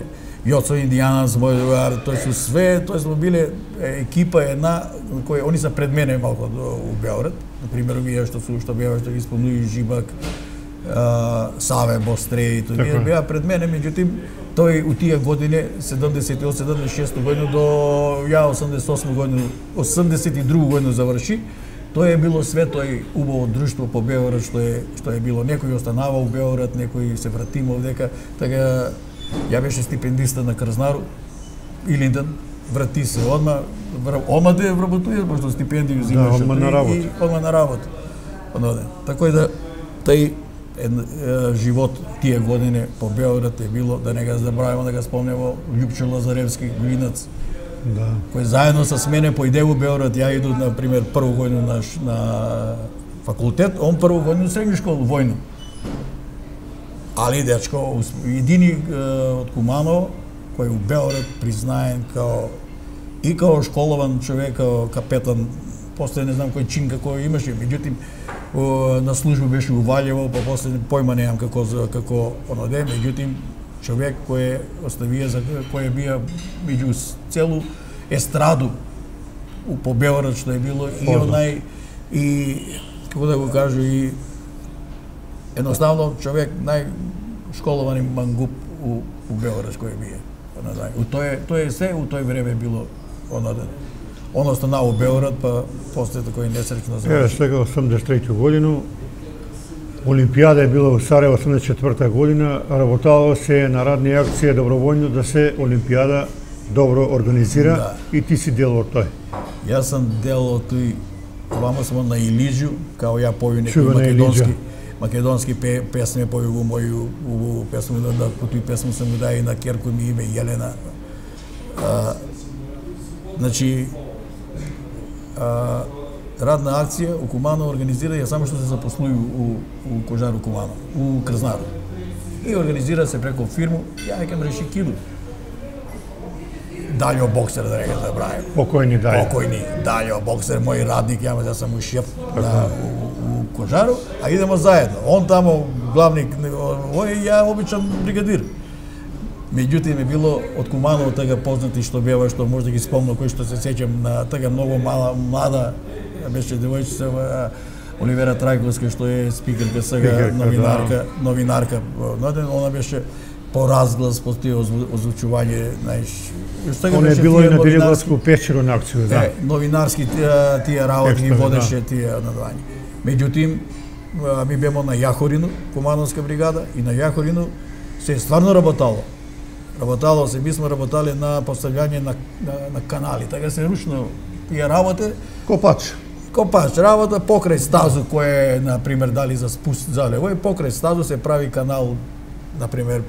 Јоцо Индијанас, мој другар, тој се све, тој сме биле екипа една кој они се пред мене малку у Београд. На пример, овие што су што беа што ги спомнуи Жибак, а, Саве Бострей, тој Така. беа пред мене, меѓутоа тој у тие години седумдесет и осум седумдесет и шеста година до ја осумдесет и осма година, осумдесет и друга година заврши. Тоа е било све тој убаво друштво по Београд што е што е било. Некој останава у Београд, некој се вратима овдека. Така ја беше стипендиста на Крзнару, Илинден, врати се одма, одма да вработува, пошто стипендију зимаше. одма на работа. И одма на работа. Оноде. Така и да тај е, е, живот тие години по Београд е било, да не го забравимо, да го спомнемо, Љупчо Лазаревски, Глинац, Да. кој заедно со мене поиде у Београд, ја иду на пример прву годину на, на факултет, он прву годину средна школа војно. Али дечко, едини е, од Куманово кој у Београд признаен као и као школован човек, као капетан, после не знам кој чин како имаше, меѓутоа на служба беше у Валјево, па после појма немам како како оноде, меѓутоа човек кој оставија за кој бија меѓу целу естраду у по Београд што е било и онај и како да го кажу и едноставно човек најшколовани мангуп у, у Београд кој бие. У тој тој е се у тој време било онаден. Он останал у Београд, па после такој несреќно заврши. Еве сега осумдесет и трета година Олимпијада е била во Сарајево осумдесет и четврта година, работало се на радни акции доброволно да се Олимпијада добро организира Да. и ти си дел од тој. Јас сум дел од тој, вама смо на Илиджу, као ја поју некои Чувена македонски, Илиджа. македонски пе, песме, поју во моју убаву песме, да, да, по тој песме сам му дај на керко ми име Јелена. А, значи, а, радна акција у Куманово организира ја само што се запослуи у, у Кожару Куманово, у Крзнару. И организира се преко фирму, ја ќе реши киду. Даљо боксер, да не го забравим. Покојни дај. Покојни Даљо боксер, мој радник, ја да сам му шеф на, у, у Кожару, а идемо заедно. Он тамо главник, ој ја обичан бригадир. Меѓутоа ми било од Куманово така познати што бева, што може да ги спомнам, кој што се сеќам на така многу мала, млада, беше девојчица Оливера Трајковска, што е спикерка сега, Спикерка, новинарка, да. новинарка, она беше по разглас, по тие озвучување, знаеш. Он е било и на Делиградско печеро на акција, да. Е, новинарски тие, тие работи ги Текстови, водеше тие надвање. Меѓутоа, ми бемо на Јахорино, Кумановска бригада, и на Јахорино се стварно работало. Работало се, ми сме работале на постављање на, на, на канали, така се ручно тие работи. Копач. Копач работа покрај стазу кој е, на пример, дали за спуст зале, овој покрај стазу се прави канал, на пример,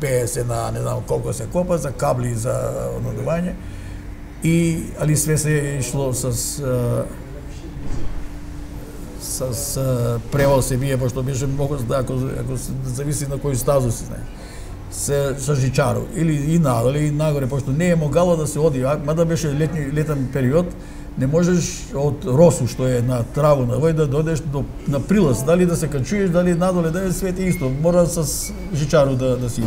пее се на не знам колку се копа, за кабли за однодување. И али све се ишло с с, с превоз се бие, пошто беше многу, ако, ако се зависи на кој стазу си, знае. Се со жичаро или и надоле и нагоре, пошто не е могало да се оди, мада беше летни летен период, не можеш од Росу што е на траву на вој да додеш до на прилаз, дали да се качуеш, дали надоле да е свете исто, мора с жичаро да да си.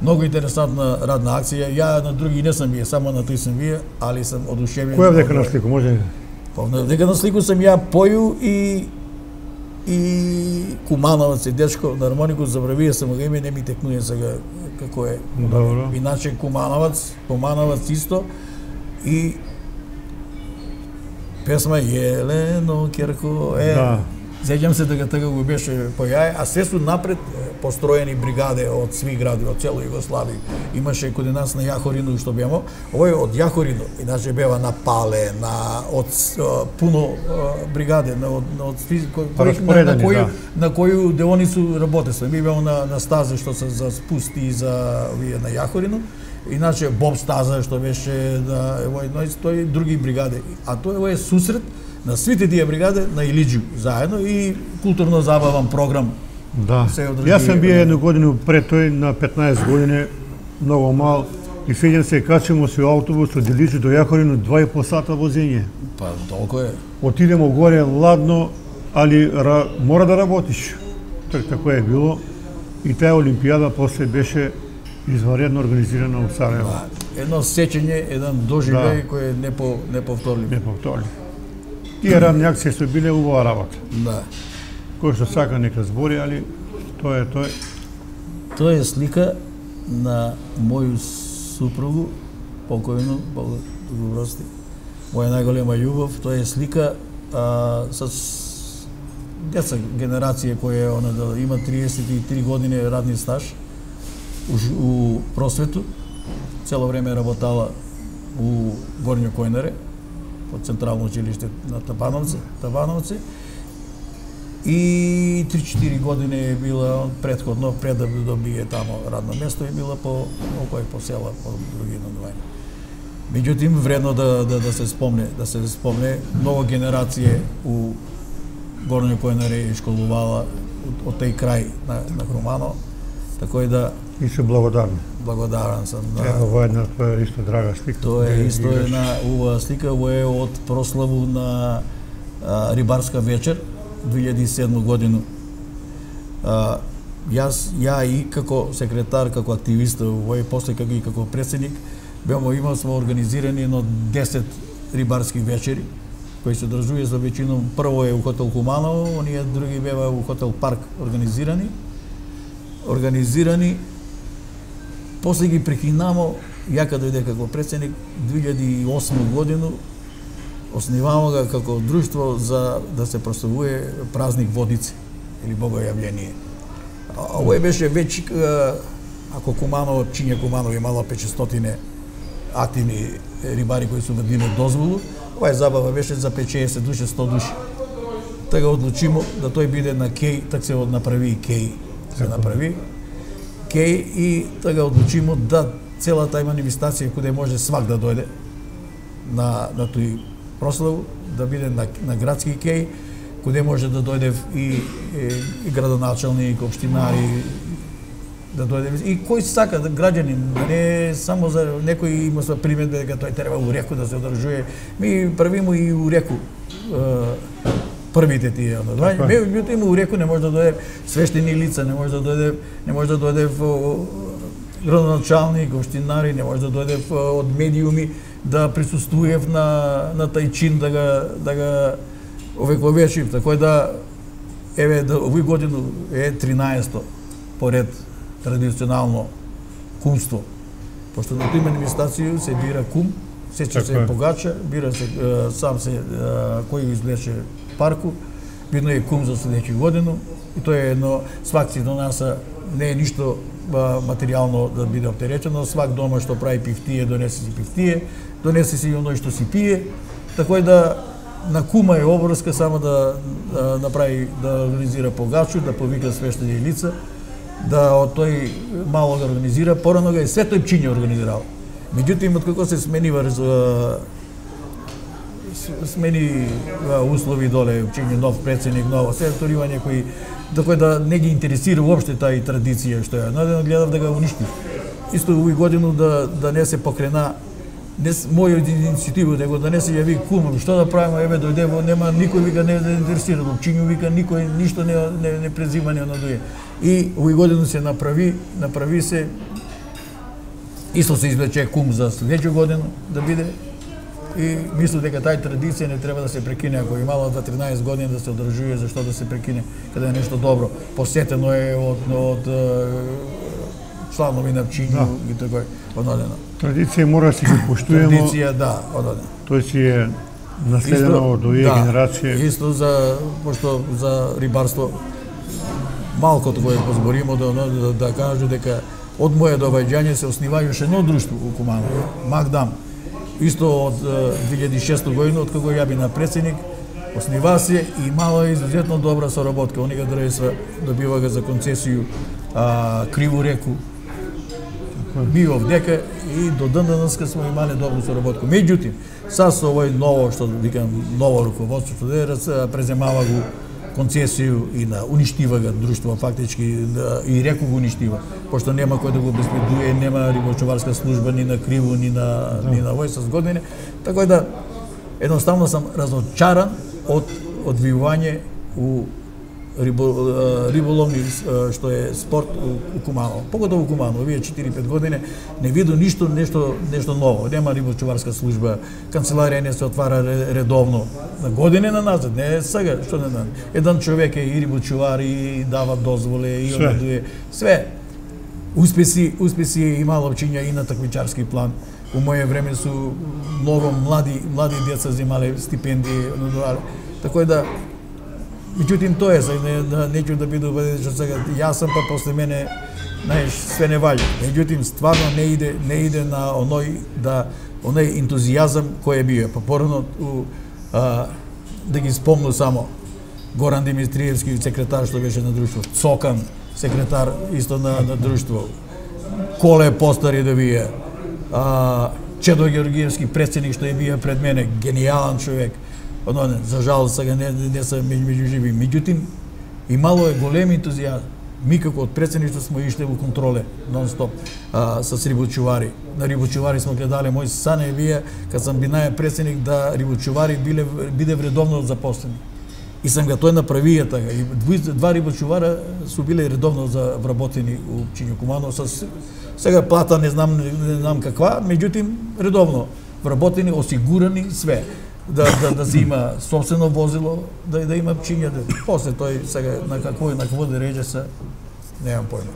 Многу интересантна радна акција. Ја на други не сум вие, само на тој сум вие, али сум одушевен. Која дека на слику може? Па дека на слику сум ја поју и и Кумановец е дечко на хармонику, забравија сам го име, не ми текнуе сега како е. Добро. Иначе Кумановец, Кумановец исто и песма Јелено Керко е. Да. Сеќам се дека така го беше појај, а се су напред построени бригаде од сви гради, од цело Југославија. Имаше каде нас на Јахорино што бемо. Овој од Јахорино, иначе бева на Пале, на од пуно бригаде, на од од кои на, на кои да. на кои деоницу работеше. Ми беа на на стазе што се за спусти за овие на Јахорино. Иначе Боб стаза што беше да овој тој други бригаде. А тој е сусрет на свите тие бригади на Илиџу заедно и културно забавен програм. Да. Јас сам бија една година пред тој на петнаесет години, многу мал, и сеќам се качимо со автобус од Илиџу до Јахорино два и по сата возење. Па толку е. Отидемо горе ладно, али ра, мора да работиш. Так тако е било. И таа олимпијада после беше изваредно организирана во Сараево. Да. Едно сеќање, еден доживеј да. кој е непо, неповторлив. Неповторлив. Тие радни акции се биле убава работа. Да. Кој што сака нека збори, али тоа е тој. Тоа е слика на моју супругу, покојну, Бог го прости. Моја најголема љубов, тоа е слика а, с деца генерација која она да има триесет и три години радни стаж у, у просвету. Цело време работала у Горњо Којнаре, од Централно училиште на Табановци, Табановци. И три-четири години е била предходно, пред да добие тамо радно место, и била по окој по села, по други надувања. Меѓутоа вредно да, да да се спомне, да се спомне нова генерација у Горњо Којнаре школувала од, од тој крај на, на Куманово, така и да и се благодарни. Благодарен сум. Да. Ево, ова е една твоја исто драга слика. Тоа е исто една ова слика, ова е од прославу на а, рибарска вечер две илјади и седма година. А, јас, ја и како секретар, како активист, овој после како и како председник, бемо имал сме организирани едно десет рибарски вечери, кои се одржува за веќином, прво е у хотел Куманово, оние други беа у хотел Парк организирани. Организирани, после ги прекинамо, ја кога дојде како председник, две илјади и осма година, основамо ga како друштво за да се прославува празник Водици или Богојавление. Овој беше веќе, ако Куманово, Чинја Куманово имало петстотини активни рибари кои се добиле дозволу, оваа забава беше за петдесет души, сто души. Така одлучимо да тој биде на кеј, така се направи и кеј. Се направи кеј и така одлучимо да целата манифестација каде може свак да дојде на на тој прослав, да биде на, на градски кеј, каде може да дојде и, и, и градоначалник, општинари, да дојде и кој сака да граѓанин, не само за некој има со примедба дека тој треба у реку да се одржува. Ми правимо и у реку првите тие одвања. Меѓутоа има у реку не може да дојде свештени лица, не може да дојде, не може да дојде градоначалник, општинари, не може да дојде од медиуми да присуствуев на на тај чин да го да го овековечив, така да еве да овој година е тринаесетто поред традиционално кумство. Пошто на тој манифестација се бира кум, сече се погача, бира се сам се кој извлече парку, видно е кум за следеќи година и тоа е едно свак си донаса, не е ништо материјално да биде оптеречено, свак дома што прави пивтие, донесе си пивтие, донесе си оној што си пие, така да на кума е обврска само да, да направи, да организира погачу, да повика свештени лица, да од тој мало го организира, порано го и све тој Чинја организирал. Меѓутоа, откако се сменива смени услови доле, Чинја нов председник, ново се торивање кои да да не ги интересира уопште тај традиција што е. Надено гледав да го уништи. Исто овој годину да да не се покрена не моја иницијатива, него да не се јави кум, што да правиме, еве дојде, нема никој вика не да интересира, Чинју вика никој ништо не не, не презима не надуе. И овој година се направи, направи се исто се извлече кум за следеќа година да биде. И мислам дека тај традиција не треба да се прекине, ако имало за тринаесет години да се одржува, зашто да се прекине, каде е нешто добро. Посетено е од од чланови на Чинју и така одадено. Традиција мора да се ги поштуемо. Традиција, да, одадено. Тој си е наследено од овие генерација. Исто за пошто за рибарство малкото кое позборимо да да, да кажу дека од моја доаѓање се основаја уште едно друштво у Куманово, Магдам. Исто од две илјади и шеста година, од кога ја бина председник, основа се и имала изузетно добра соработка. Они га држеа, добивага за концесију а, Криву реку, бивав дека и до ден денеска сме имале добро соработка. Меѓутоа, са со овој ново, што викам, ново руководство, што преземава го концесију и на уништива го друштво, фактички, и реку го уништива, пошто нема кој да го обезбедува, нема рибочуварска служба ни на Криво, ни на, ни на овој со години, така да едноставно сам разочаран од одвивање у рибо, риболовни, што е спорт у Куманово. Поготово у Куманово, овие четири-пет години не виду ништо, нешто, нешто ново. Нема рибочуварска служба, канцеларија не се отвара редовно. На години на назад, не сега, што не знам. Еден човек е и рибочувар, и дава дозволе, и одредува све. Успеси, успеси е имало чинја и на такмичарски план. У моје време су многу млади, млади деца земале стипендии, така да меѓутоа тоа е, не, да, неќу да биде убеден сега, јас сум па после мене, знаеш, све не вали. Меѓутоа стварно не иде, не иде на оној да оној ентузијазам кој е био. Па порано а, да ги спомну само Горан Димитриевски, секретар што беше на друштво, Цокан, секретар исто на, на друштво, Коле Постари да бие, а, Чедо Георгиевски, председник што е бие пред мене, генијален човек. Оно, за жал, сега не, не са меѓу живи. Меѓутоа, имало е голем ентузијазм. Ми како од председништво сме ишле во контроле, нон-стоп, а, с рибочувари. На рибочувари сме гледале, мој сан е вие, кад сам бинаја председник, да рибочувари биле, биде вредовно запослени. И сам ga тој направија така. И два рибочувара су биле редовно за вработени у општина Куманово. С, сега плата не знам, не знам каква, меѓутоа редовно вработени, осигурани, све. Да, да, да се има собствено возило, да, да има пчиња. Да. После тој сега на какво на какво да реже се, немам појма.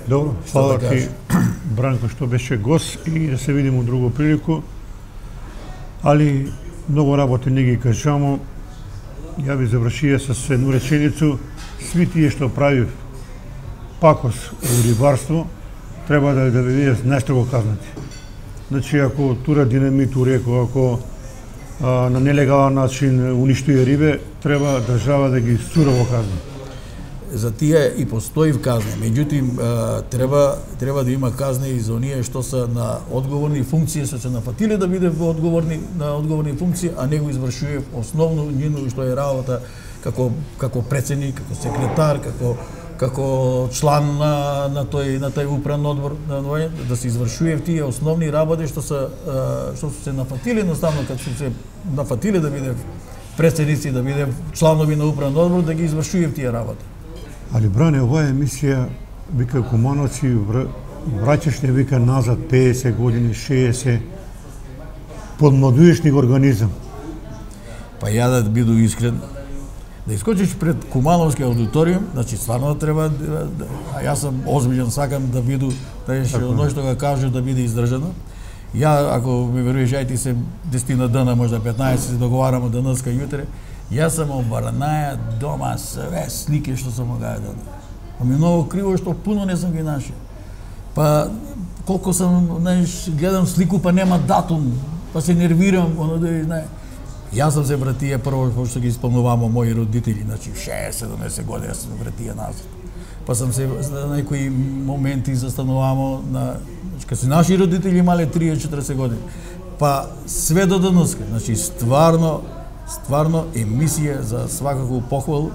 Добро, фала ти, Бранко, што беше гост и да се видиме у друго прилику. Али многу работи не ги кажамо. Ја би завршија со едну реченицу. Сви тие што прави пакос у рибарство, треба да да биде најстрого казнати. Значи, ако тура динамит у реку, ако а, на нелегален начин уништува рибе, треба држава да ги сурово казни. За тие и постои казни, меѓутоа треба треба да има казни и за оние што се на одговорни функции, се се нафатиле да биде одговорни на одговорни функции, а не го извршува основно нивно што е работа како како председник, како секретар, како како член на на тој на тој управен одбор на да се извршува тие основни работи што се што се нафатиле едноставно кога се нафатиле да биде председници, да биде чланови на управен одбор, да ги извршува тие работи. Али, Бране, оваа емисија, вика Кумановци, враќаш не вика назад педесет години, шеесет, подмладуеш ни организам. Па ја да биду искрен, да искочиш пред Кумановски аудиториум, значи стварно треба, а јас сум озбилен, сакам да биду, да еш оно што го кажу да биде издржано. Ја, ако ми веруваш, ај ти се десетина дена, можда петнаесет, се договараме денеска јутре, јас сам обарнаја дома све слики што сам га даден. А ми многу криво што пуно не сам ги наши. Па колку сам, знаеш, гледам слику па нема датум, па се нервирам, оно да знае. Јас сам се вратија прво што ги исполнувамо мои родители, значи шеесет седумдесет години јас сам вратија назад. Па сам се на некои моменти застанувамо на, значи кога се наши родители имале триесет четириесет години. Па све до денеска, значи стварно стварно емисија за свакако похвалу,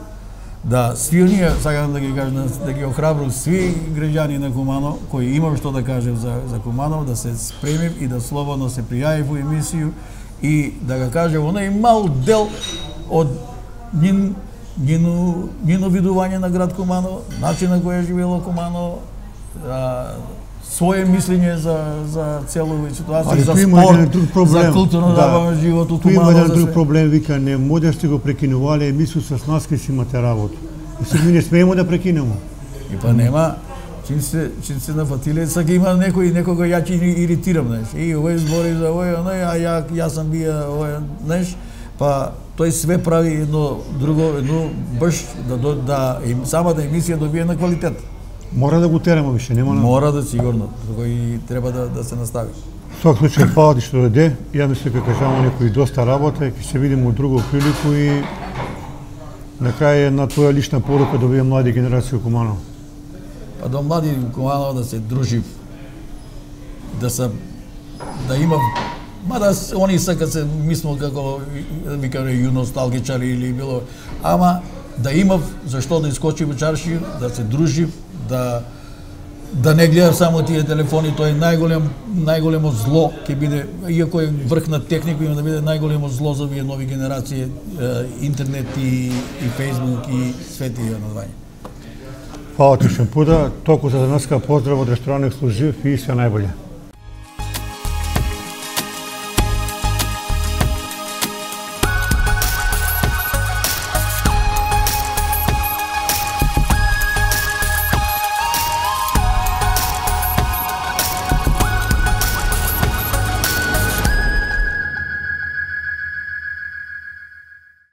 да сви оние, сакам да ги кажам, да ги охрабрам сви граѓани на Куманово, кои имам што да кажем за, за Куманово, да се спремим и да слободно се пријави во емисију и да ga кажем оној мал дел од нин, нино, нино видување на град Куманово, начин на кој е живело Куманово, а, своје мислење за за целова ситуација, за спорт, за културно забавен живот у Куманово. Има еден друг проблем, вика, не можеш да го прекинувале емисију с нас кај си имате работа. И сега ми не смеемо да прекинемо. И па нема, чим се чим се нафатиле, сега има некој некога ја ќе иритирам, знаеш. И овој збори за овој, оној, а ја јас сам бија овој, знаеш. Па тој све прави едно друго, едно баш да да, да самата емисија добие на квалитет. Мора да го тераме више, нема на... Мора да сигурно, кој треба да да се настави. В свак случај, фала ти што дојде. Ја мислам дека кажамо некои доста работа, ќе се видиме у друго прилику и на крај една твоја лична порука да овие млади генерации у Куманово. Па до млади у Куманово да се дружи, да се да има, мада они сакат се мислат како викаме ю носталгичари или било, ама да имав зашто да искочи во чарши, да се дружи, да да не гледам само тие телефони, тоа е најголем најголемо зло ќе биде, иако е врх на техника, има да биде најголемо зло за овие нови генерации, интернет и и Facebook и све тие надвања. Фала ти Шемпуда, толку за денеска поздрав од ресторан Ексклузив и све најболje.